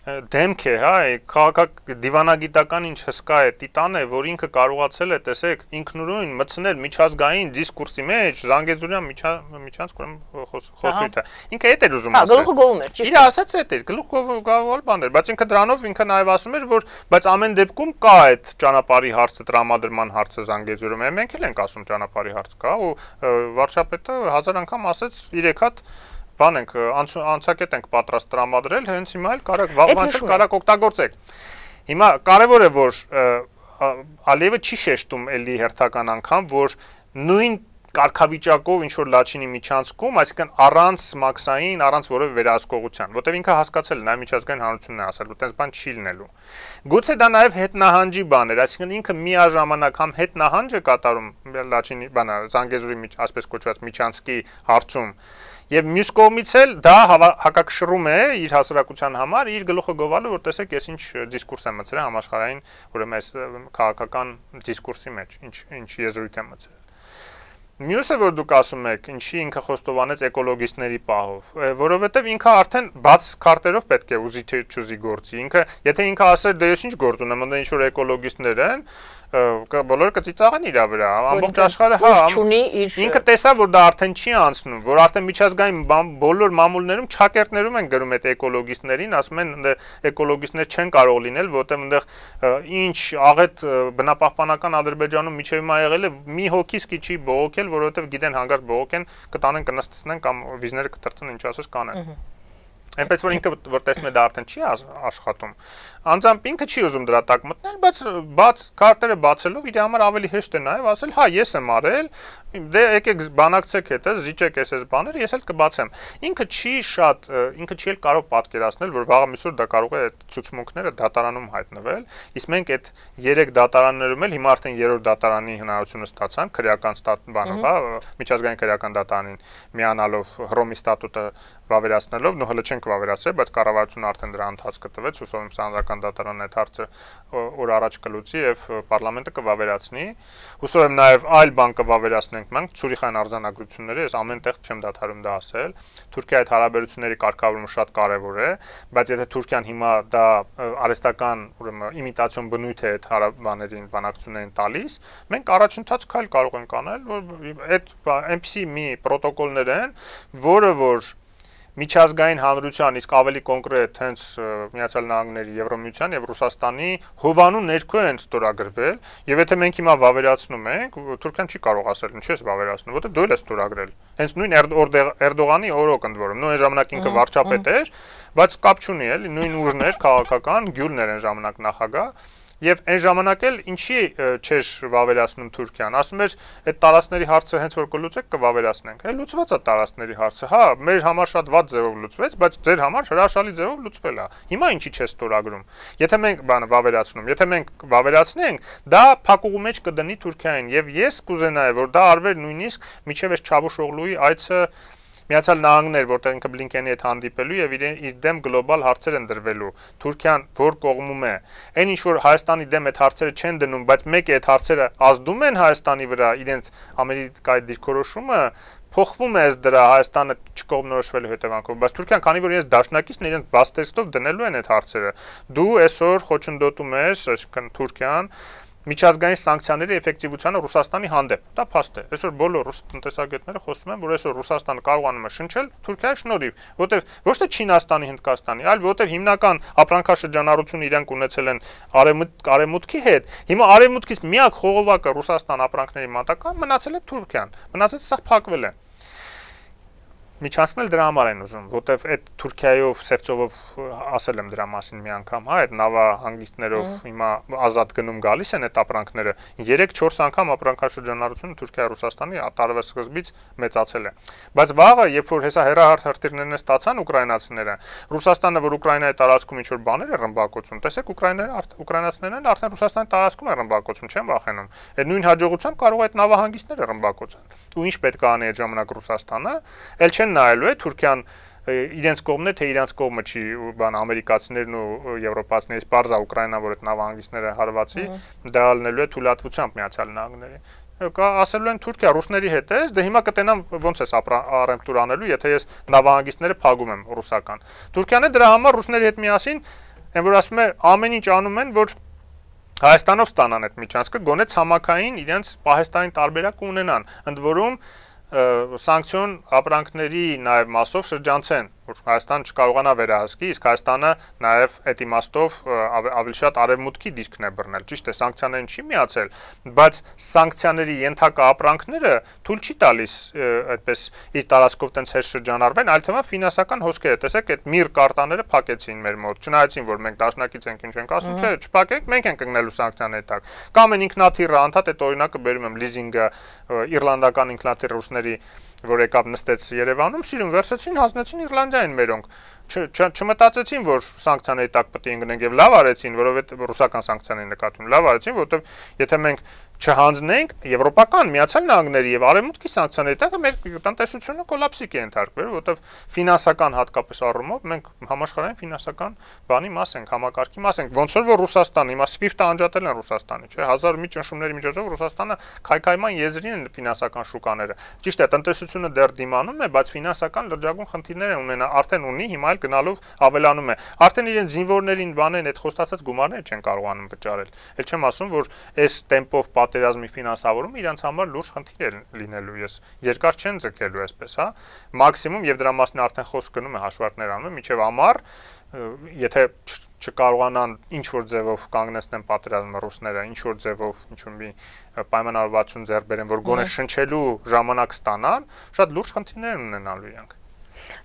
դեմք է, հա, քաղաքակ դիվանագիտական ինչ հսկա է, տիտան է, որ ինքը կարողացել է, տեսեք, ինքնուրույն մտցնել միջազգային դիսկուրսի մեջ Զանգեզուրյան միջանցք խոսույթը։ Ինքը այդ էր ուզում ասել։ Հա, գլուխը գովում էր, ճիշտ է։ Իր ասած այդ էր, գլուխը գովում բան էր, բայց ինքը դրանով ինքը նաև ասում էր, որ բայց ամեն դեպքում կա այդ ճանապարհի հարցը, տրամադրման հարցը Զանգեզուրում։ Մենք էլ ենք ասում ճանապարհի հարց կա ու վարչապետը հազար անգամ ասեց երեք հատ բան ենք անցակետ ենք պատրաստ տրամադրել, հենց հիմա էլ կարակ վաղվանցել, կարակ օգտագործեք։ Հիմա կարևոր է, որ Ալիևը չի շեշտում էլի հերթական անգամ, որ նույն կարգավիճակով ինչ որ Լաչինի միջանցքում, այսինքն առանց մաքսային, առանց որևէ վերահսկողության, որտեղ ինքը հասկացել է, նա միջազգային հանրությունն է ասել, որ տես բան չի լինելու։ Գուցե դա նաև հետնահանջի բան էր, այսինքն ինքը միաժամանակ համ հետնահանջ է կատարում Լաչինի բանը Զանգեզուրի միջ, ասպես կոչված միջանցքի հարցում, եւ մյուս կողմից էլ դա հակակշռում է իր հասարակության համար, իր գլուխը գովալու, որ տեսեք, ես ինչ դիսկուրս եմ մտցրել համաշխարհային, ուրեմն այս քաղաքական դիսկուրսի մեջ, ինչ ինչ եզրույթ եմ մտցրել։ Մյուսը, որ դուք ասում եք, ինչի ինքը խոստովանեց էկոլոգիստների պահով, որովհետև ինքը արդեն բաց քարտերով պետք է ուզի թե չուզի գործի։ Ինքը, եթե ինքը ասեր, դե ես ինչ գործ ունեմ, ընդ ինչ որ էկոլոգիստներ են, բոլորը կծիծաղեն իր վրա, ամբողջ աշխարհը, հա, ինքը տեսավ, որ դա արդեն չի անցնում, որ արդեն միջազգային բոլոր մամուլներում չակերտներում են գրում այդ էկոլոգիստներին, ասում են էկոլոգիստներ չեն կարող լինել, որտեղ այնտեղ ինչ աղետ բնապահպանական Ադրբեջանում միջև հիմա եղել է, մի հոգի չի բողոքել, որովհետև գիտեն հանգարց բողոքեն, կտանեն կնստեցնեն կամ վիզները կտրցնեն, ինչ ասես կանեն։ Այնպես որ ինքը որ տեսնում է դա արդեն չի աշխատում, անձամբ ինքը չի ուզում դրա տակ մտնել, բայց բաց քարտերը բացելով իր համար ավելի հեշտ է նաև ասել, հա, ես եմ արել, դե եկեք բանակցեք հետը, զիջեք էս էս բաները, ես էլ կբացեմ։ Ինքը չի շատ, ինքը չի էլ կարող պատկերացնել, որ վաղը միսուր դա կարող է այդ ցուցմունքները դատարանում հայտնվել, իսկ մենք այդ երեք դատարաններում էլ հիմա արդեն երրորդ դատարանի հնարավորությունը ստացանք քրեական ստատ բանով, հա, միջազգային քրեական դատարանին միանալով Հռոմի ստատուտը վավերացնելով, նո հələ չենք վավերացրել, բայց կառավարությունը արդեն դրա ընթացքը տվեց, հուսով եմ Սահմանադրական դատարանն այդ հարցը օր առաջ կլուծի եւ պարլամենտը կվավերացնի։ Հուսով եմ նաեւ այլ բան կվավերացնենք մենք Ցուրիխային արձանագրությունները, ես ամեն տեղ չեմ դադարում դա ասել։ Թուրքիայի հետ հարաբերությունների կարգավորումը շատ կարեւոր է, բայց եթե Թուրքիան հիմա դա արհեստական, ուրեմն իմիտացիոն բնույթ է այդ հարաբերություններին, բանակցություններին տալիս, մենք առաջընթաց քայլ կարող ենք անել, որ այդ այնպիսի մի պրոտոկոլներ են, որը որ միջազգային հանրության, իսկ ավելի կոնկրետ հենց Միացյալ Նահանգների, Եվրոմիության եւ Ռուսաստանի հովանու ներքո են ստորագրվել, եւ եթե մենք հիմա վավերացնում ենք, Թուրքիան չի կարող ասել, ինչու ես վավերացնում, որտեղ դու էլ ես ստորագրել։ Հենց նույն Էրդողանի օրոք ընդ որում, նույն այն ժամանակ ինքը վարչապետ էր, բայց կապ չունի էլի, նույն ուժներ, քաղաքական գյուլներ են ժամանակ նախագահ։ Եվ այն ժամանակ էլ ինչի չէր վավերացնում Թուրքիան, ասում էր այդ տարածքների հարցը հենց որ կլուծեք կվավերացնենք։ Հա լուծված է տարածքների հարցը, հա, մեր համար շատ վատ ձևով լուծվեց, բայց ձեր համար հրաշալի ձևով լուծվել է։ Հիմա ինչի՞ չէ ստորագրում։ Եթե մենք բանը վավերացնում, եթե մենք վավերացնենք, դա փակուղու մեջ կդնի Թուրքիային եւ ես կուզենայի, որ դա արվեր նույնիսկ միջև այս Չավուշօղլուի այցը Միացյալ Նահանգներ, որտեղ ինքը Բլինկենի հետ հանդիպելու եւ իր դեմ գլոբալ հարցեր են դրվելու։ Թուրքիան որ կողմում է։ Այն ինչ որ Հայաստանի դեմ այդ հարցերը չեն դնում, բայց մեկ է այդ հարցերը ազդում են Հայաստանի վրա, իրենց Ամերիկայի դիրքորոշումը փոխվում է ըստ դրա Հայաստանը չկողմնորոշվելու հետևանքով, բայց Թուրքիան, քանի որ իրենց դաշնակիցն իրենց բաց տեքստով դնելու են այդ հարցերը, դու այսօր խոչընդոտում ես, այսինքն Թուրքիան միջազգային սանկցիաների էֆեկտիվությանը Ռուսաստանի հանդեպ։ Դա փաստ է։ Այսօր բոլոր ռուս տնտեսագետները խոսում են, որ այսօր Ռուսաստանը կարողանում է շնչել Թուրքիայի շնորհիվ, որտեվ ոչ թե Չինաստանի, Հնդկաստանի, այլ որտեվ հիմնական ապրանքաշրջանառությունը իրենք ունեցել են արևմուտք, արևմուտքի հետ։ Հիմա արևմուտքից միակ խողովակը Ռուսաստան ապրանքների մատակարարում մնացել է Թուրքիան։ Մնացած սա փակվել է։ Միջանցնել դրա համար են ուզում, որտեվ այդ Թուրքիայով Սևծովով ասել եմ դրա մասին մի անգամ, հա, այդ նավահանգիստներով հիմա ազատ գնում գալիս են այդ ապրանքները, երեք-չորս անգամ ապրանքաշրջանառությունը Թուրքիա-Ռուսաստանի տարվա սկզբից մեծացել է։ Բայց վաղը, երբ որ հեսա հերահար հրթիռներն ստացան ուկրաինացիները, Ռուսաստանը, որ Ուկրաինայի տարածքում ինչ որ բաներ է ռմբակոծում, տեսեք ուկրաիներն ուկրաինացիներն արդեն Ռուսաստանի տարածքում են ռմբակոծում, չեն վախենում։ Այդ նույն հաջողությամբ կարող է այդ նավահանգիստները ռմբակոծել։ Ու ինչ պետք է անի այդ ժամանակ Ռուսաստանը, ել չեն նայելու է Թուրքիան իրենց կողմն է, թե իրենց կողմը չի, բան ամերիկացիներն ու եվրոպացիներից բարձա Ուկրաինան, որ այդ նավահանգիստները հարվածի, դա ալնելու է թույլատվությամբ Միացյալ Նահանգների։ Կա ասելու են Թուրքիա ռուսների հետ է, դե հիմա կտենամ ոնց էս առեմտուր անելու, եթե ես նավահանգիստները փակում եմ ռուսական։ Թուրքիան է դրա համար ռուսների հետ միասին, այն որ ասում է ամեն ինչ անում են, որ Հայաստանով ստանան այդ միջանցքը, գոնե ցամաքային իրենց Պահեստային տարբերակ ունենան, ընդ որում սանկցիոն ապրանքների նաև մասով շրջանցեն, որ Հայաստանը չկարողանա վերահսկի, իսկ Հայաստանը նաև այդ իմաստով ավելի շատ արևմուտքի դիրքն է բռնել։ Ճիշտ է, սանկցիաներին չի միացել, բայց սանկցիաների ենթակա ապրանքները թույլ չի տալիս այդպես իր տարածքով տենց հետ շրջանառվեն, այլ թվում ֆինանսական հոսքերը։ Տեսեք, այդ միր կարտաները փակեցին մեր մոտ, չնայածին, որ մենք դաշնակից ենք, ինչ ենք ասում, չէ, չփակեք, մենք ենք ընկնելու սանկցիաների տակ։ Կամ են ինքնաթիռը, անդադ այդ օրինակը բերում եմ լիզինգը, իռլանդական ինքնաթիռ ռուսների, որ եկավ նստեց Երևանում, սիրուն վերցեցին, հանձնեցին Իռլանդիային մերոնք։ Չմտածեցին, որ սանկցիաների տակ պետք է ընկնենք եւ լավ արեցին, որովհետեւ ռուսական սանկցիաների նկատմամբ լավ արեցին, որովհետեւ եթե մենք չհանձնենք եվրոպական Միացյալ Նահանգների եւ արևմուտքի սանկցիաների տակ մեր տնտեսությունը կոլապսի կընթարկվեր, որովհետեւ ֆինանսական հատկապես առումով մենք համաշխարհային ֆինանսական բանի մաս ենք, համակարգի մաս ենք։ Ոնց որ Ռուսաստանը, հիմա SWIFT-ը անջատել են Ռուսաստանի, չէ՞, հազար մի ճնշումների միջոցով Ռուսաստանը քայքայման եզրին են ֆինանսական շուկաները։ Ճիշտ է, տնտեսությունը դեռ դիմանում է, բայց ֆինանսական լրջագույն խնդիրներ ունենա, արդեն ունի, հիմա էլ գնալով ավելանում է։ Արդեն իրեն զինվորներին բանեն այդ խոստացած գումարները չեն կարողանում վճարել։ Էլ չեմ ասում, որ այս տեմպով պատերազմի ֆինանսավորումը իրանց համար լուրջ խնդիր է լինելու, ես երկար չեն ձգելու այսպես, հա, մաքսիմում եւ դրա մասին արդեն խոսք գնում է, հաշվարկներ անում, միջև ամառ, եթե չկարողանան ինչ որ ձևով կանգնեցնեն պատերազմը ռուսները, ինչ որ ձևով ինչ որ մի պայմանավորվածություն ձեռք բերեն, որ գոնե շնչելու ժամանակ ստանան, շատ լուրջ խնդիրներ ունենալու իրանք։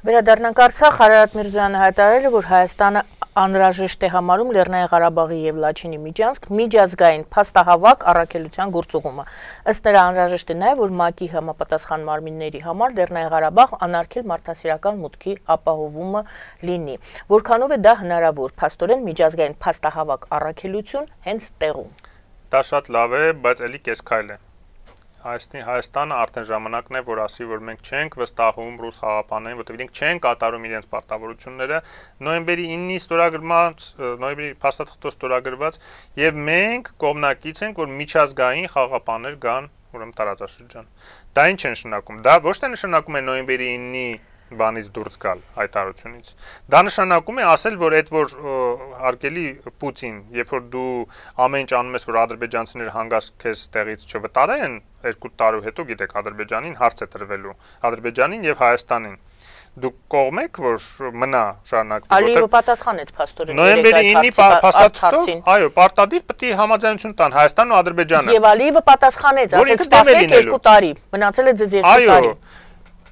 Վերադառնանք Արցախ, Արարատ Միրզոյանը հայտարարել է, որ Հայաստանը անհրաժեշտ է համարում Լեռնային Ղարաբաղի եւ Լաչինի միջանցք միջազգային փաստահավաք առաքելության գործուղումը։ Ըստ նրա անհրաժեշտ է նաեւ, որ ՄԱԿ-ի համապատասխան մարմինների համար Լեռնային Ղարաբաղ անարգել մարդասիրական մուտքի ապահովումը լինի։ Որքանով է դա հնարավոր, փաստորեն միջազգային փաստահավաք առաքելություն հենց տեղում։ Դա շատ լավ է, բայց էլի կես քայլ է։ Հայաստանի Հայաստանը արդեն ժամանակն է, որ ասի, որ մենք չենք վստահում ռուս խաղապաններին, որտեղ իրենք չեն կատարում իրենց պարտավորությունները, նոյեմբերի իննի ստորագրված, նոյեմբերի փաստաթղթով ստորագրված, եւ մենք կողմնակից ենք, որ միջազգային խաղապաններ գան, ուրեմն տարածաշրջան։ Դա ինչ է նշանակում։ Դա ոչ թե նշանակում է նոյեմբերի իննի բանից դուրս գալ հայտարարությունից։ Դա նշանակում է ասել, որ այդ որ հարգելի Պուտին, երբ որ դու ամեն ինչ անում ես, որ ադրբեջանցիները հանգած քեզ տեղից չվտարեն, երկու տարի հետո գիտեք Ադրբեջանին հարց է տրվելու, Ադրբեջանին եւ Հայաստանին։ Դուք կողմ եք, որ մնա շարունակվի, Ալիևը պատասխանեց փաստորեն նոյեմբերի իննի փաստաթղթով, այո, պարտադիր պետք է համաձայնություն տան Հայաստանն ու Ադրբեջանը։ Եվ Ալիևը պատասխանեց, ասեց սպասեք երկու տարի, մնացել է ձեզ երկու տարի։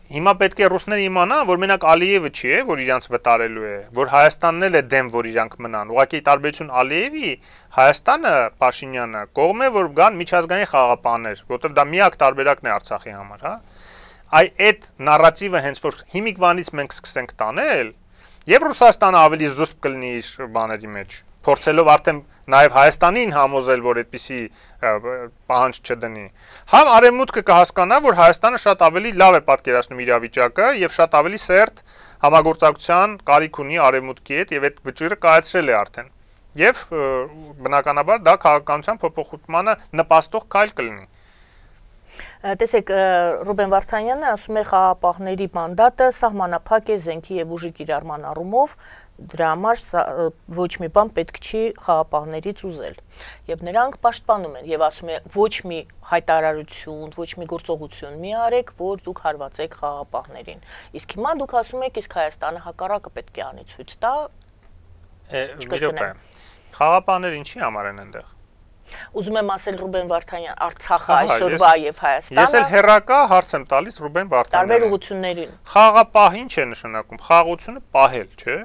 Հիմա պետք է ռուսները իմանան, որ մենակ Ալիևը չի է, որ իրանց վտարելու է, որ Հայաստանն էլ է դեմ, որ իրանք մնան։ Ուղղակի տարբերություն Ալիևի, Հայաստանը, Փաշինյանը կողմ է, որ գան միջազգային խաղապաններ, որովհետև դա միակ տարբերակն է Արցախի համար, հա։ Այ այդ նարատիվը հենց որ հիմիկվանից մենք սկսենք տանել, եւ Ռուսաստանը ավելի զուսպ կլինի իր բաների մեջ, փորձելով արդեն նաև Հայաստանին համոզել, որ այդպիսի պահանջ չդնի։ Համ Արևմուտքը կհասկանա, որ Հայաստանը շատ ավելի լավ է պատկերացնում իրավիճակը եւ շատ ավելի սերտ համագործակցության կարիք ունի Արևմուտքի հետ եւ այդ վճիռը կայացրել է արդեն։ Եվ բնականաբար դա քաղաքականության փոփոխությանը նպաստող քայլ կլինի։ Տեսեք, Ռուբեն Վարդանյանը ասում է խաղապահների մանդատը սահմանափակ է զենքի եւ ուժի կիրառման առումով, դրա համար ոչ մի բան պետք չի խաղապահներից ուզել։ Եվ նրանք պաշտպանում են եւ ասում է ոչ մի հայտարարություն, ոչ մի գործողություն մի արեք, որ դուք հարվածեք խաղապահներին։ Իսկ հիմա դուք ասում եք, իսկ Հայաստանը հակառակը պետք է անի ցույց տա։ Մի րոպե։ Խաղապահները ինչի համար են այնտեղ։ Ուզում եմ ասել Ռուբեն Վարդանյան, Արցախը այսօրվա եւ Հայաստանը։ Ես էլ հերակա հարց եմ տալիս Ռուբեն Վարդանյանին։ Տարբեր ուղղություններին։ Խաղապահ ինչ է նշանակում։ Խաղաղությունը պահել, չէ՞։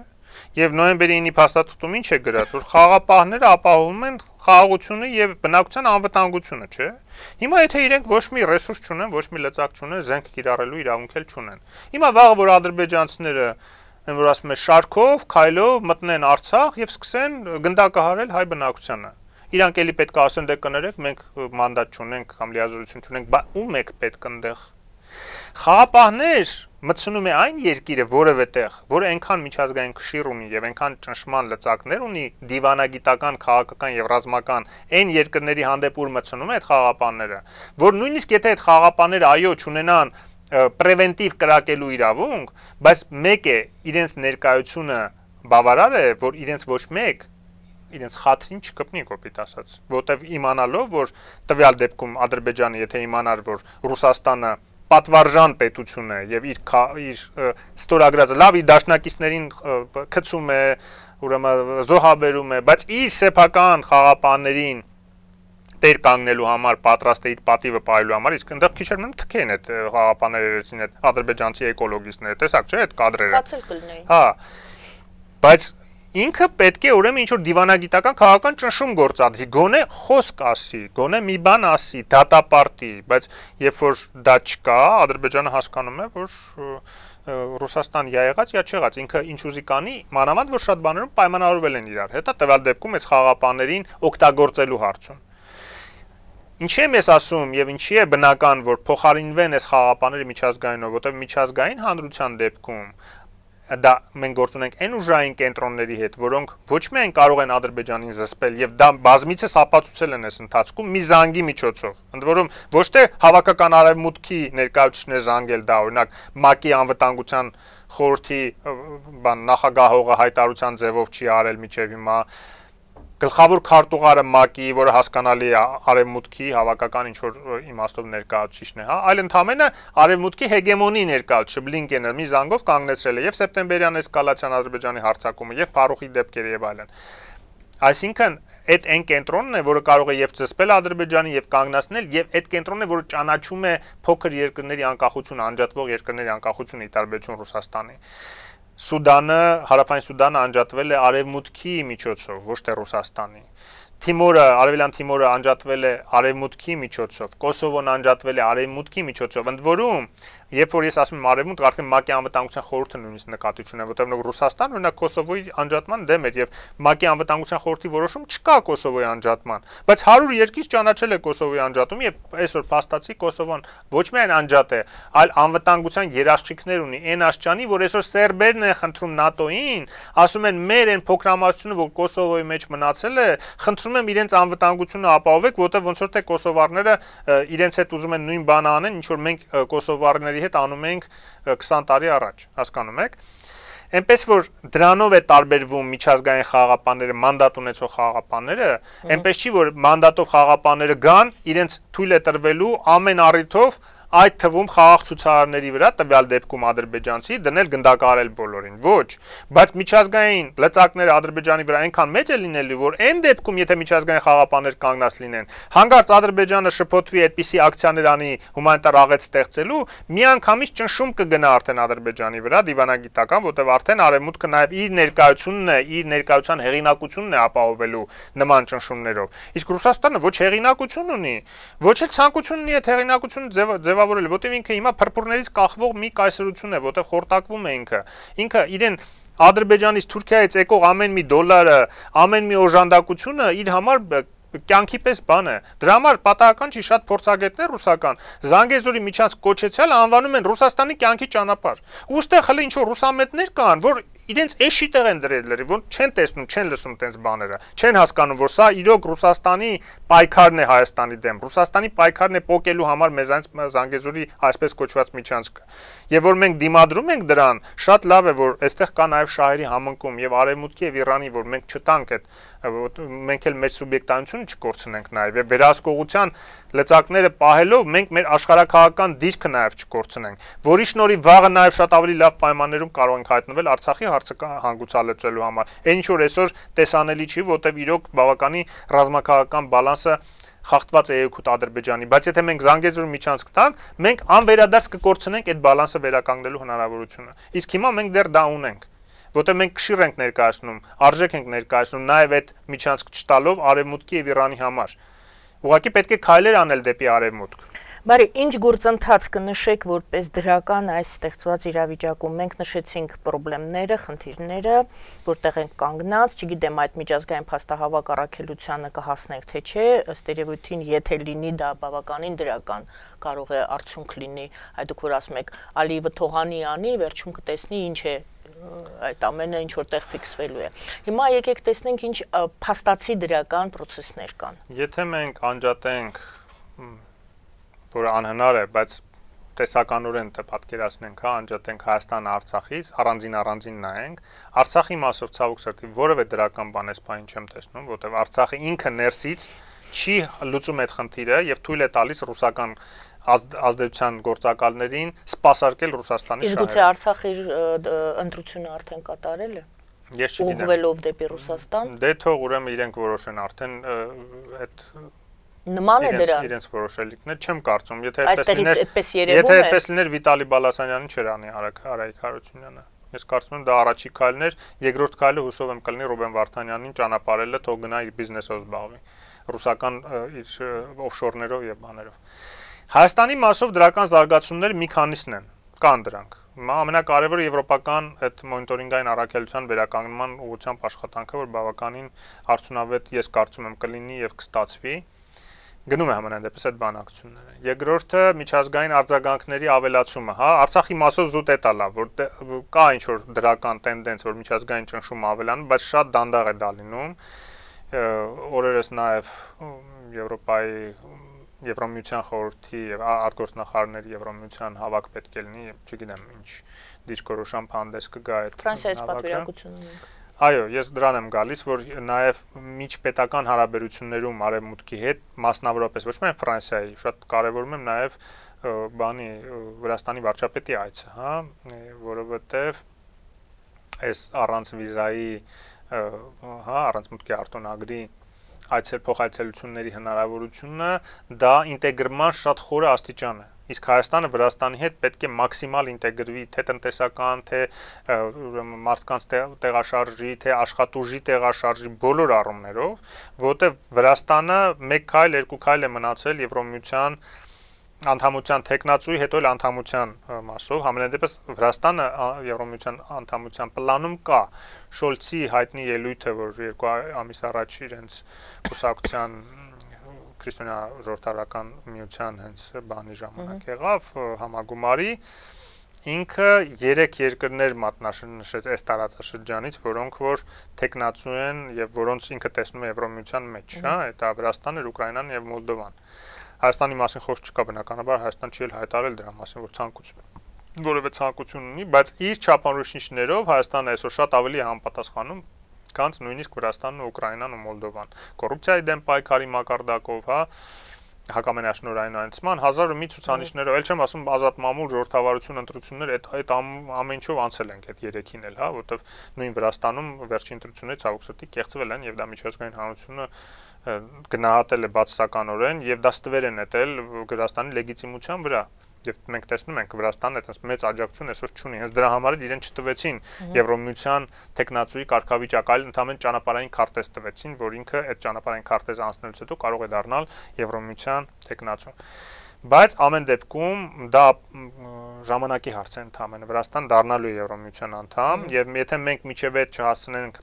Եվ նոյեմբերի իննի փաստաթղթում ինչ է գրած, որ խաղապահները ապահովում են խաղաղությունը եւ բնակության անվտանգությունը, չէ՞։ Հիմա եթե իրենք ոչ մի ռեսուրս չունեն, ոչ մի լծակ չունեն, զենք կիրառելու իրավունք էլ չունեն։ Հիմա վաղը որ ադրբեջանցիները են որ ասում են շարքով, քայլով մտնեն Արցախ եւ սկսեն գնդակահարել հայ բնակությանը։ Իրանք էլի պետք է ասեն դե կներեք, մենք մանդատ չունենք կամ լիազորություն չունենք, բա ում եք պետք ընդեղ։ Խաղապահներ մտցնում է այն երկիրը որևէ տեղ, որը այնքան միջազգային քշիր ունի եւ այնքան ճնշման լծակներ ունի, դիվանագիտական, քաղաքական եւ ռազմական այն երկրների հանդեպ ուր մտցնում է այդ խաղապահները, որ նույնիսկ եթե այդ խաղապահները այո չունենան պրևենտիվ կրակելու իրավունք, բայց մեկ է իրենց ներկայությունը բավարար է, որ իրենց ոչ մեկ իրենց խաթրին չկպնի կոպիտ ասած, որտեվ իմանալով, որ տվյալ դեպքում Ադրբեջանը եթե իմանար, որ Ռուսաստանը պատվարժան պետություն է եւ իր իր ստորագրած լավ իր դաշնակիցներին քցում է, ուրեմն զոհաբերում է, բայց իր սեփական խաղապաններին տեր կանգնելու համար պատրաստ է իր պատիվը պահելու համար, իսկ այնտեղ քիչ մնում թքեն այդ խաղապանները երեսին այդ ադրբեջանցի էկոլոգիստները, տեսակ չէ այդ կադրերը։ Կացել կլինեին։ Հա։ Բայց ինքը պետք է ուրեմն ինչ որ դիվանագիտական քաղաքական ճնշում գործադրի, գոնե խոսք ասի, գոնե մի բան ասի, դատապարտի, բայց երբ որ դա չկա, Ադրբեջանը հասկանում է, որ Ռուսաստան յա եղած, յա չեղած, ինքը ինչ ուզի կանի, մանավանդ որ շատ բաներում պայմանավորվել են իրար հետ, տվյալ դեպքում այս խաղապաներին օգտագործելու հարցում։ Ինչի եմ ես ասում եւ ինչի է բնական, որ փոխարինվեն այս խաղապաները միջազգայինով, որտեղ միջազգային հանրության դեպքում դա մենք գործ ունենք այն ուժային կենտրոնների հետ, որոնք ոչ միայն կարող են Ադրբեջանին զսպել եւ դա բազմիցս ապացուցել են այս ընթացքում մի զանգի միջոցով։ Ընդ որում ոչ թե հավաքական արևմուտքի ներկայացուցիչն է զանգել դա, օրինակ ՄԱԿ-ի անվտանգության խորհրդի բան նախագահողը հայտարարության ձևով չի արել միջև հիմա, գլխավոր քարտուղարը ՄԱԿ-ի, որը հասկանալի է արևմուտքի հավաքական ինչ որ իմաստով ներկայացուցիչն է, հա, այլ ընդհանրապես արևմուտքի հեգեմոնի ներկայացուցիչ Բլինկենը մի զանգով կանգնեցրել է եւ սեպտեմբերյան էսկալացիան Ադրբեջանի հարձակումը եւ Փարուխի դեպքերը եւ այլն։ Այսինքն այդ այն կենտրոնն է, որը կարող է եւ ծսպել Ադրբեջանին եւ կանգնացնել եւ այդ կենտրոնն է, որը ճանաչում է փոքր երկրների անկախությունը, անջատվող երկրների անկախությունը ի տարբերություն Ռուսաստանի։ Սուդանը, Հարավային Սուդանը անջատվել է Արևմուտքի միջոցով, ոչ թե Ռուսաստանի։ Թիմորը, Արևելյան Թիմորը անջատվել է Արևմուտքի միջոցով, Կոսովոն անջատվել է Արևմուտքի միջոցով։ Ընդ որում, երբ որ ես ասում եմ Արևմուտք, արդեն ՄԱԿ-ի անվտանգության խորհուրդը նույնիսկ նկատի ունի, որտեղ Ռուսաստանը օրինակ Կոսովոյի անջատման դեմ էր եւ ՄԱԿ-ի անվտանգության խորհրդի որոշում չկա Կոսովոյի անջատման, բայց հարյուր երկիր ճանաչել է Կոսովոյի անջատումը եւ այսօր փաստացի Կոսովոն ոչ միայն անջատ է, այլ անվտանգության երաշխիքներ ունի այն աշճանի, որ այսօր սերբերն են խնդրում ՆԱՏՕ-ին, ասում են մեր այն փոքրամասնությունը, որ Կոսովոյի մեջ մնացել է, խնդրում եմ իրենց անվտանգությունը ապահովեք, որտեղ ոնց որ թե կոսովարները իրենց հետ ուզում են նույն բանը անեն, ինչ որ մենք կոսովարների հետ անում ենք քսան տարի առաջ, հասկանում եք։ Այնպես որ դրանով է տարբերվում միջազգային խաղաղապահները, մանդատ ունեցող խաղաղապահները, այնպես չի որ մանդատով խաղաղապահները գան, իրենց թույլ է տրվելու ամեն առիթով այդ թվում խաղաղ ցուցարարների վրա տվյալ դեպքում ադրբեջանցի դնել գնդակահարել բոլորին, ոչ, բայց միջազգային լծակները Ադրբեջանի վրա այնքան մեծ է լինելու, որ այն դեպքում, եթե միջազգային խաղաղապահներ կանգնած լինեն, հանկարծ Ադրբեջանը շփոթվի այդպիսի ակցիաներ անի հումանիտար աղետ ստեղծելու, միանգամից ճնշում կգնա արդեն Ադրբեջանի վրա դիվանագիտական, որտեղ արդեն Արևմուտքը նաև իր ներկայությունն է, իր ներկայության հեղինակությունն է ապահովելու նման ճնշումներով։ Իսկ Ռուսաստանը ոչ հեղինակություն ունի, ոչ էլ ցանկություն ունի այդ հեղինակությունը ձև որտեղ ինքը հիմա փրփուրներից կախվող մի կայսրություն է, որտեղ խորտակվում է ինքը։ Ինքը իրեն Ադրբեջանից Թուրքիայից եկող ամեն մի դոլարը, ամեն մի օժանդակությունը իր համար կյանքի պես բան է։ Դրա համար պատահական չի շատ փորձագետներ ռուսական Զանգեզուրի միջանցք կոչեցյալ անվանում են Ռուսաստանի կյանքի ճանապարհ։ Ոստեղ հələ ինչ որ ռուսամետներ կան, որ իրենց էշի տեղ են դրել, որ չեն տեսնում, չեն լսում տենց բաները, չեն հասկանում, որ սա իրոք Ռուսաստանի պայքարն է Հայաստանի դեմ, Ռուսաստանի պայքարն է պոկելու համար մեզանց Զանգեզուրի այսպես կոչված միջանցքը։ Եվ որ մենք դիմադրում ենք դրան, շատ լավ է, որ այստեղ կա նաև շահերի համընկում եւ Արևմուտքի եւ Իրանի, որ մենք չտանք այդ մենք էլ մեր սուբյեկտայությունը չկորցնենք նաև եւ վերահսկողության լծակները պահելով մենք մեր աշխարհակաղակական դիրքը նաև չկորցնենք, որի շնորհիվ վաղը նաև շատ ավելի լավ պայմաններում կարող ենք հայտնվել Արցախի հարցը հանգուցալուծելու համար։ Այն ինչ որ այսօր տեսանելի չի, որտեղ իրոք բավականի ռազմաքաղաքական բալանսը խախտված է եկուտ Ադրբեջանի, բայց եթե մենք Զանգեզուրի միջանցք տանք, մենք անվերադարձ կկորցնենք այդ բալանսը վերականգնելու հնարավորությունը։ Իսկ հիմա մենք դեռ դա ունենք, որտեղ մենք քշիր ենք ներկայացնում, արժեք ենք ներկայացնում նաև այդ միջանցք չտալով Արևմուտքի եւ Իրանի համար։ Ուղղակի պետք է քայլեր անել դեպի Արևմուտք։ Բարի, ինչ գործընթաց կնշեք որպես դրական այս ստեղծված իրավիճակում։ Մենք նշեցինք խնդիրները, խնդիրները, որտեղ են կանգնած, չգիտեմ այդ միջազգային փաստահավաք առաքելությանը կհասնենք թե չէ, ըստ երևույթին, եթե լինի դա բավականին դրական, կարող է արդյունք լինի, այդ դուք որ ասում եք, Ալիևը թողանի անի, վերջում կտեսնի ինչ է այդ ամենը ինչ որտեղ ֆիքսվելու է։ Հիմա եկեք տեսնենք ինչ փաստացի դրական process-ներ կան։ Եթե մենք անջատենք, որը անհնար է, բայց տեսականորեն դե պատկերացնենք, հա, անջատենք Հայաստանը Արցախից, առանձին առանձին նայենք, Արցախի մասով ցավոք սրտի որևէ դրական բան էս բանին չեմ տեսնում, որտեղ Արցախը ինքը ներսից չի լուծում այդ խնդիրը եւ թույլ է տալիս ռուսական ազդեցության գործակալներին սպասարկել Ռուսաստանի շահերը։ Իսկ գուցե Արցախի ընտրությունը արդեն կատարել է։ Ես չգիտեմ։ Ուղղվելով դեպի Ռուսաստան։ Դե թող ուրեմն իրենք որոշեն արդեն այդ նման է դրան։ Իրենց որոշելիքն է, չեմ կարծում, եթե այդպես լիներ, եթե այդպես լիներ Վիտալի Բալասանյանին չէր անի Արայք Հարությունյանը։ Ես կարծում եմ դա առաջի քայլն էր, երկրորդ քայլը հուսով եմ կլինի Ռուբեն Վարդանյանին ճանապարհելը, թող գնա իր բիզնեսով զբաղվի, ռուսական իր օֆշորներով եւ բաներով։ Հայաստանի մասով դրական զարգացումները մի քանիսն են, կան դրանք։ Ամենակարևորը եվրոպական այդ մոնիտորինգային առաքելության վերականգնման ուղղությամբ աշխատանքը, որ բավականին արդյունավետ ես կարծում եմ կլինի եւ կստացվի։ Գնում է համենայն դեպս այդ բանակցությունները։ Երկրորդը միջազգային արձագանքների ավելացումը, հա, Արցախի մասով զուտ է տալա, որ կա ինչ որ դրական տենդենս, որ միջազգային ճնշումը ավելանում, բայց շատ դանդաղ է դա լինում։ Օրերս նաև Եվրոպայի Եվրոմիության խորհրդի եւ արտգործնախարարների Եվրոմիության հավաք պետք է լինի, չգիտեմ ինչ դիրքորոշամ հանդես կգա այդ Ֆրանսիայից պատվիրակություն ունենք։ Այո, ես դրան եմ գալիս, որ նաև միջպետական հարաբերություններում Արևմուտքի հետ, մասնավորապես ոչ միայն Ֆրանսիայի, շատ կարևորում եմ նաև բանի Վրաստանի վարչապետի այցը, հա, որովհետև այս առանց վիզայի հա, առանց մուտքի արտոնագրի այցել փոխայցելությունների հնարավորությունը դա ինտեգրման շատ խորը աստիճան է։ Իսկ Հայաստանը Վրաստանի հետ պետք է մաքսիմալ ինտեգրվի թե տնտեսական, թե ուրեմն մարդկանց տեղաշարժի, թե աշխատուժի տեղաշարժի բոլոր առումներով, որտեղ Վրաստանը մեկ քայլ, երկու քայլ է մնացել Եվրոմիության անդամության տեխնացուի, հետո էլ անդամության մասով, համենայն դեպս Վրաստանը Եվրոմիության անդամության պլանում կա։ Շոլցի հայտնի ելույթը, որ երկու ամիս առաջ իրենց կուսակցության քրիստոնյա ժողովրդական միության հենց բանի ժամանակ եղավ համագումարի, ինքը երեք երկրներ մատնանշեց այս տարածաշրջանից, որոնք որ տեխնացու են եւ որոնց ինքը տեսնում է Եվրոմիության մեջ, հա, դա Վրաստանն, Ուկրաինան եւ Մոլդովան։ Հայաստանի մասին խոսք չկա, բնականաբար Հայաստան չի էլ հայտարարել դրա մասին, որ ցանկություն որևէ ցանկություն ունի, բայց իր չափանիշներով Հայաստանը այսօր շատ ավելի է համապատասխանում, քան նույնիսկ Վրաստանն ու Ուկրաինան ու Մոլդովան։ Կոռուպցիայի դեմ պայքարի մակարդակով, հա, հակամենաշնորհայնացման հազար ու մի ցուցանիշներով, ել չեմ ասում ազատ մամուլ ժողովրդավարություն ընտրություններ, այդ այդ ամեն ինչով անցել ենք այդ երեքին էլ, հա, որովհետև նույն Վրաստանում վերջին ընտրություններից ցավոք սրտի կեղծվել են եւ դա միջազգային հանրությունը գնահատել է բացասականորեն եւ դա ստվեր է նետել Վրաստանի լեգիտիմության վրա։ Եվ մենք տեսնում ենք Վրաստանը այդպես մեծ աջակցություն այսօր չունի, հենց դրա համար էլ իրեն չտվեցին Եվրոմիության տեխնացուի կարգավիճակ, այլ ընդհանրեն ճանապարհային քարտեզ տվեցին, որ ինքը այդ ճանապարհային քարտեզը անցնելուց հետո կարող է դառնալ Եվրոմիության տեխնացու։ Բայց ամեն դեպքում դա ժամանակի հարց է ընդհանրեն Վրաստան դառնալու է Եվրոմիության անդամ, եւ եթե մենք միջև այդ չհասնենք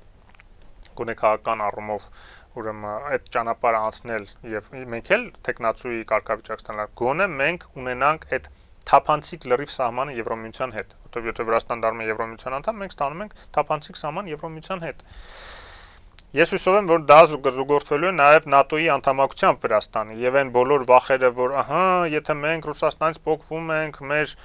գոնե քաղաքական առումով ուրեմն այդ ճանապարհը անցնել եւ մենք էլ տեխնացուի կարգավիճակ ստանալ, գոնե մենք ունենանք այդ թափանցիկ լրիվ սահմանը Եվրոմիության հետ, որովհետեւ եթե Վրաստան դառնում է Եվրոմիության անդամ, մենք ստանում ենք թափանցիկ սահման Եվրոմիության հետ։ Ես հուսով եմ, որ դա զուգորդվելու է նաև ՆԱՏՕ-ի անդամակցությամբ Վրաստանի եւ այն բոլոր վախերը, որ ահա, եթե մենք Ռուսաստանից փոխվում ենք, մեր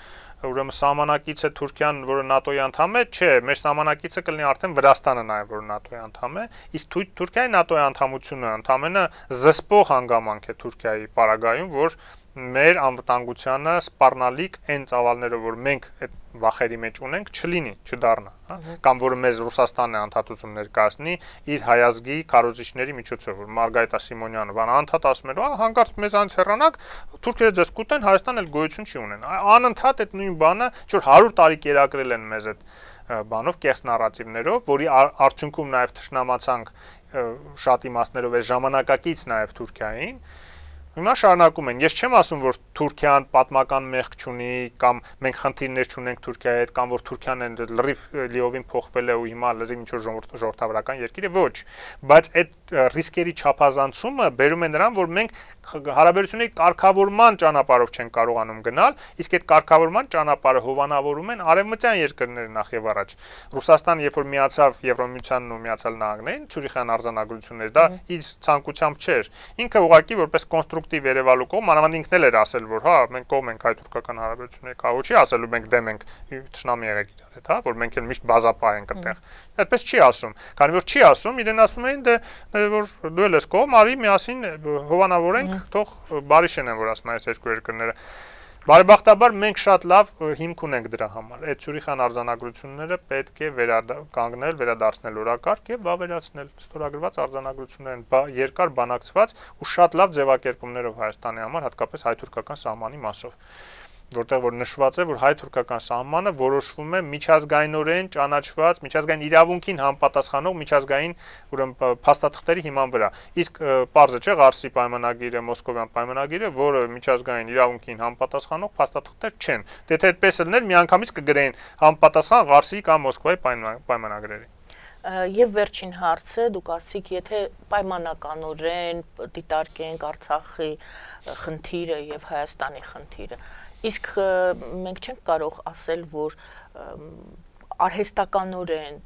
ուրեմն սահմանակիցը Թուրքիան, որը ՆԱՏՕ-ի անդամ է, չէ, մեր սահմանակիցը կլինի արդեն Վրաստանը նաև, որ ՆԱՏՕ-ի անդամ է, իսկ Թուրքիայի ՆԱՏՕ-ի անդամությունը ընդամենը զսպող հանգամանք է Թուրքիայի պարագայում, որ մեր անվտանգությանը սպառնալիք այն ծավալներով, որ մենք այդ վախերի մեջ ունենք, չլինի, չդառնա, հա, կամ որ մեզ Ռուսաստանն է անդադություն ներկայացնի իր հայազգի քարոզիչների միջոցով, որ Մարգարիտա Սիմոնյանը բան անդադ ասում էր, «Ահա հանկարծ մեզանից հեռանանք, թուրքերը ձեզ կուտեն, Հայաստանն էլ գոյություն չի ունեն»։ Անընդհատ այդ նույն բանը, որ հարյուր տարի կերակրել են մեզ այդ բանով կեղծ նարատիվներով, որի արդյունքում նաև թշնամացանք շատ իմաստներով այս ժամանակակից նաև Թուրքիային։ Հիմա շարունակում են։ Ես չեմ ասում, որ Թուրքիան պատմական մեղք չունի կամ մենք խնդիրներ չունենք Թուրքիայի հետ կամ որ Թուրքիան լրիվ լիովին փոխվել է ու հիմա լրիվ ինչ-որ ժողովրդավարական երկիր է, ոչ, բայց այդ ռիսկերի չափազանցումը բերում է նրան, որ մենք հարաբերությունների կարգավորման ճանապարհով չեն կարողանում գնալ, իսկ այդ կարգավորման ճանապարհը հովանավորում են արևմտյան երկրները նախ եւ առաջ։ Ռուսաստանը, երբ որ միացավ Եվրոմիությանն ու Միացյալ Նահանգներին, Ցյուրիխյան արձանագրություններից, դա իր ցանկությամբ չէր։ Ինքը ուղղակի որպես կոնստրուկտիվ երևալու կողմ, մանավանդ ինքն էլ էր ասել, որ հա, մենք կողմ ենք հայ-թուրքական հարաբերությունների կահու չի ասելու, մենք դեմ ենք թշնամի եղեք իրար հետ, հա, որ մենք էլ միշտ բազապահ ենք այդտեղ։ Այդպես չի ասում, քանի որ չի ասում, իրեն ասում էին, դե որ դու էլ ես կողմ, արի միասին հովանավորենք, թող բարի շենեն, որ ասում են այս երկու երկրները։ Բարեբախտաբար մենք շատ լավ հիմք ունենք դրա համար։ Այդ Ցյուրիխյան արձանագրությունները պետք է վերականգնել, վերադարձնել օրակարգ եւ վավերացնել ստորագրված արձանագրություններն երկար բանակցված ու շատ լավ ձևակերպումներով Հայաստանի համար, հատկապես հայ-թուրքական սահմանի մասով, որտեղ որ նշված է, որ հայ-թուրքական սահմանը որոշվում է միջազգայինորեն ճանաչված, միջազգային իրավունքին համապատասխանող միջազգային ուրեմն փաստաթղթերի հիման վրա։ Իսկ պարզը չէ Ղարսի պայմանագիրը, Մոսկովյան պայմանագիրը, որը միջազգային իրավունքին համապատասխանող փաստաթղթեր չեն։ Դե թե այդպես լիներ, միանգամից կգրեին համապատասխան Ղարսի կամ Մոսկվայի պայմանագրերի։ Եվ վերջին հարցը, դուք ասացիք, եթե պայմանականորեն դիտարկենք Արցախի խնդիրը եւ Հայաստանի խնդիրը, իսկ մենք չենք կարող ասել, որ արհեստականորեն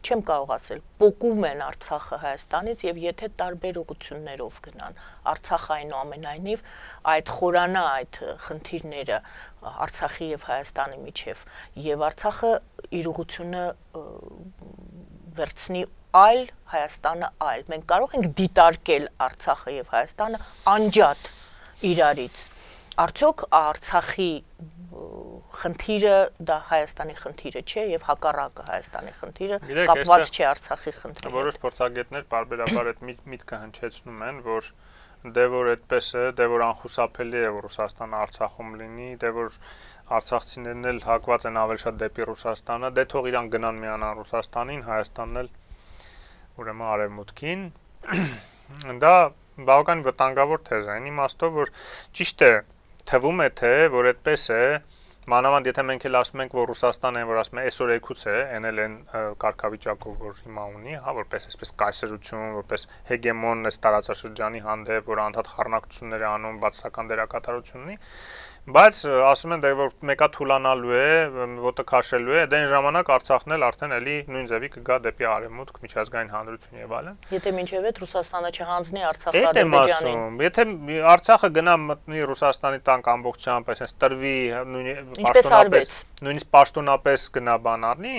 չեմ կարող ասել, պոկում են Արցախը Հայաստանից եւ եթե տարբեր ուղղություններով գնան, Արցախը այնուամենայնիվ այդ խորանա այդ խնդիրները Արցախի եւ Հայաստանի միջեւ եւ Արցախը իր ուղղությունը վերցնի այլ, Հայաստանը այլ։ Մենք կարող ենք դիտարկել Արցախը եւ Հայաստանը անջատ իրարից։ Արդյոք Արցախի խնդիրը դա Հայաստանի խնդիրը չէ եւ հակառակը Հայաստանի խնդիրը կապված չէ Արցախի խնդրի հետ։ Որոշ փորձագետներ բարբերաբար այդ միտքը հնչեցնում են, որ դե որ այդպես է, դե որ անխուսափելի է որ Ռուսաստանը Արցախում լինի, դե որ արցախցիներն էլ հակված են ավելի շատ դեպի Ռուսաստանը, դե թող իրան գնան միանան Ռուսաստանին, Հայաստանն էլ ուրեմն արևմուտքին։ Դա բավական վտանգավոր թեզ է, այն իմաստով, որ ճիշտ է, թվում է թե որ այդպես է, մանավանդ եթե մենք էլ ասում ենք, որ Ռուսաստանը, որ ասում է այսօր եկուց է, այն էլ են կարգավիճակով, որ հիմա ունի, հա, որպես այսպես կայսրություն, որպես հեգեմոն այս տարածաշրջանի հանդեպ, որ անդադ խառնակցություններ է անում, բացասական դերակատարություն ունի, բայց ասում են, դե որ մեկա թուլանալու է, ոտը քաշելու է, դե այն ժամանակ Արցախն էլ արդեն էլի նույն ձևի կգա դեպի արևմուտք, միջազգային հանրություն եւ այլն։ Եթե մինչեւ այդ Ռուսաստանը չհանձնի Արցախը Ադրբեջանին։ Եթե Արցախը գնա մտնի Ռուսաստանի տանկ ամբողջությամբ, այսպես տրվի պաշտոնապես, նույնիսկ պաշտոնապես գնա բան առնի,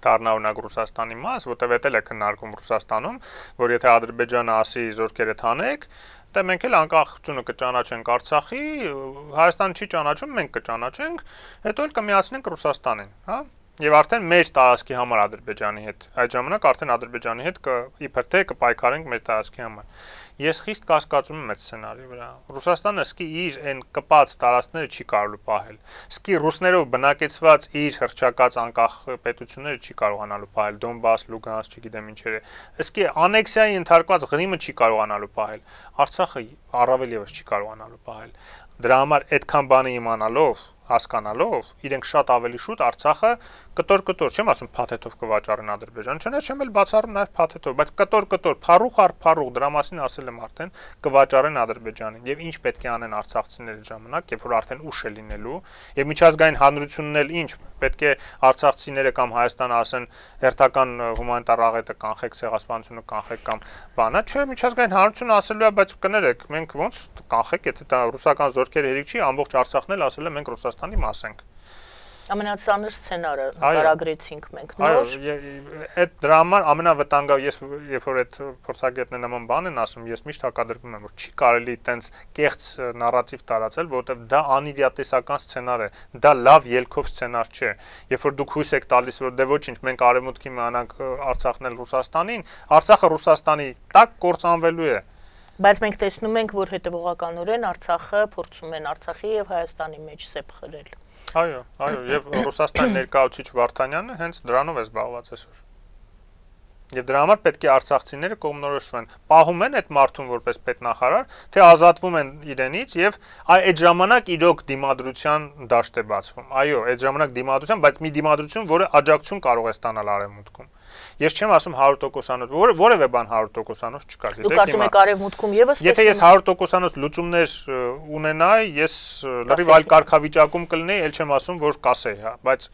դառնա օրինակ Ռուսաստանի մաս, որտեղ էլ է քննարկում Ռուսաստանում, որ եթե Ադրբեջանը ասի զորքերը թանեք, դե մենք էլ անկախությունը կճանաչենք Արցախի, Հայաստանը չի ճանաչում, մենք կճանաչենք, հետո էլ կմիացնենք Ռուսաստանին, հա? Եվ արդեն մեր տարածքի համար Ադրբեջանի հետ, այդ ժամանակ արդեն Ադրբեջանի հետ իբր թե կպայքարենք մեր տարածքի համար։ Ես խիստ կասկածում եմ այդ սցենարի վրա։ Ռուսաստանը սկի իր այն կպած տարածքները չի կարողանալու պահել։ Սկի ռուսներով բնակեցված իր հռչակած անկախ պետությունները չի կարողանալու պահել, Դոնբաս, Լուգանսկ, չգիտեմ ինչերը։ Սկի անեքսիայի ընդհարկված Ղրիմը չի կարողանալու պահել։ Արցախը առավել եւս չի կարողանալու պահել։ Դրա համար այդքան բանը իմանալով, հասկանալով, իրենք շատ ավելի շուտ Արցախը կտոր-կտոր, չեմ ասում փաթեթով կվաճառեն Ադրբեջան, չնայած չեմ էլ բացառում նաև փաթեթով, բայց կտոր-կտոր, փառուխ առ փառուխ, դրա մասին ասել եմ արդեն, կվաճառեն Ադրբեջանին։ Եվ ինչ պետք է անեն արցախցիները ժամանակ, երբ որ արդեն ուշ է լինելու, եւ միջազգային հանրությունն էլ ինչ պետք է արցախցիները կամ Հայաստանը ասեն հերթական հումանիտար աղետը կանխեք, ցեղասպանությունը կանխեք կամ բանը, չէ, միջազգային հանրությունը ասելու է, բայց կներեք, մենք ոնց կանխեք, եթե դա ռուսական զորքերի հերիք չի, ամբողջ Արցախն էլ ասել է մենք Ռուսաստանի մաս ենք։ Ամենածանր սցենարը նկարագրեցինք մենք նոր։ Այդ դրա համար ամենավտանգավոր, ես երբ որ այդ փորձագետները նման բան են ասում, ես միշտ հակադրվում եմ, որ չի կարելի այտենց կեղծ նարատիվ տարածել, որովհետև դա անիրատեսական սցենար է, դա լավ ելքով սցենար չէ։ Երբ որ դուք հույս եք տալիս, որ դե ոչինչ, մենք արևմուտքի միանանք Արցախն էլ Ռուսաստանին, Արցախը Ռուսաստանի տակ կործանվելու է։ Բայց մենք տեսնում ենք, որ հետևողականորեն Արցախը փորձում են Արցախի եւ Հայաստանի մեջ սեպ խրել։ Այո, այո, եւ Ռուսաստանի ներկայացուցիչ Վարդանյանը հենց դրանով է զբաղված այսօր։ Եվ դրա համար պետք է արցախցիները կողմնորոշվեն, պահում են այդ մարդուն որպես պետնախարար, թե ազատվում են իրենից եւ այդ ժամանակ իրոք դիմադրության դաշտ է բացվում։ Այո, այդ ժամանակ դիմադրության, բայց մի դիմադրություն, որը աջակցություն կարող է ստանալ արևմուտքում։ Ես չեմ ասում հարյուր տոկոսանոց, որևէ բան հարյուր տոկոսանոց չկա։ Դուք կարծում եք արևմուտքում եւս Եթե ես հարյուր տոկոսանոց լուծումներ ունենայի, ես լրիվ այլ կարգավիճակում կլինեի, ել չեմ ասում, որ կասեի, հա, բայց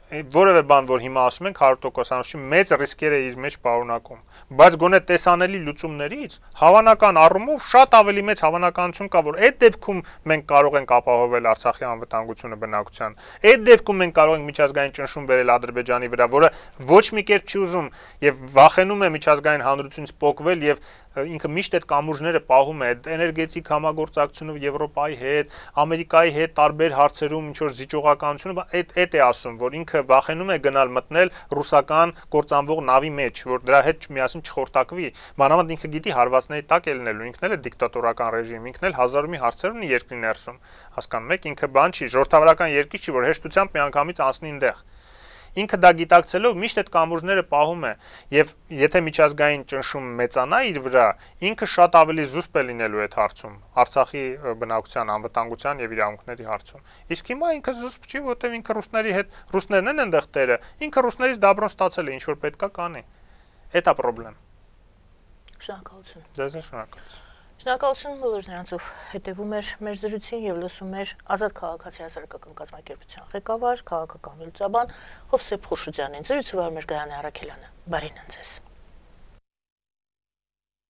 որևէ բան, որ հիմա ասում ենք հարյուր տոկոսանոց չի, մեծ ռիսկեր է իր մեջ պարունակում, բայց գոնե տեսանելի լուծումներից հավանական առումով շատ ավելի մեծ հավանականություն կա, որ այդ դեպքում մենք կարող ենք ապահովել Արցախի անվտանգությունը բնակության, այդ դեպքում մենք կարող ենք միջազգային ճնշում բերել Ադրբեջանի վրա, որը ոչ մի կերպ չի ուզում եւ վախենում է միջազգային հանրությունից պոկվել եւ ինքը միշտ այդ կամուրջները պահում է, էներգետիկ համագործակցությունը Եվրոպայի հետ, Ամերիկայի հետ տարբեր հարցերում ինչ որ զիջողականությունը, այդ այդ է ասում, որ ինքը վախենում է գնալ մտնել ռուսական կործանվող նավի մեջ, որ դրա հետ միասին չխորտակվի։ Մանավանդ ինքը գիտի հարվածների տակ է լինելու, ինքն էլ է դիկտատորական ռեժիմ, ինքն էլ հազար ու մի հարցեր ունի երկրի ներսում։ Հասկանում եք, ինքը բան չի, ժողովրդավարական երկիր չի, որ հեշտությամբ միանգամից անցնի այնտեղ։ Ինքը դա գիտակցելով միշտ այդ կամուրջները պահում է եւ եթե միջազգային ճնշում մեծանա իր վրա, ինքը շատ ավելի զուսպ է լինելու այդ հարցում, Արցախի բնակության անվտանգության եւ իրավունքների հարցում։ Իսկ հիմա ինքը զուսպ չի, որովհետեւ ինքը ռուսների հետ, ռուսներն են այնտեղ տերը, ինքը ռուսներից դաբրոն ստացել է, ինչ որ պետքա կանի։ Էդ է խնդրեմ։ Շնորհակալություն։ Ձեզ շնորհակալություն։ Շնորհակալություն բոլոր նրանցով հետևում էր մեր զրույցին եւ լսում էր Ազատ քաղաքացի հասարակական կազմակերպության ղեկավար, քաղաքական վերլուծաբան Հովսեփ Խուրշուդյանին։ Զրույցը վարում էր Գայանե Առաքելյանը։ Բարին ընձեզ։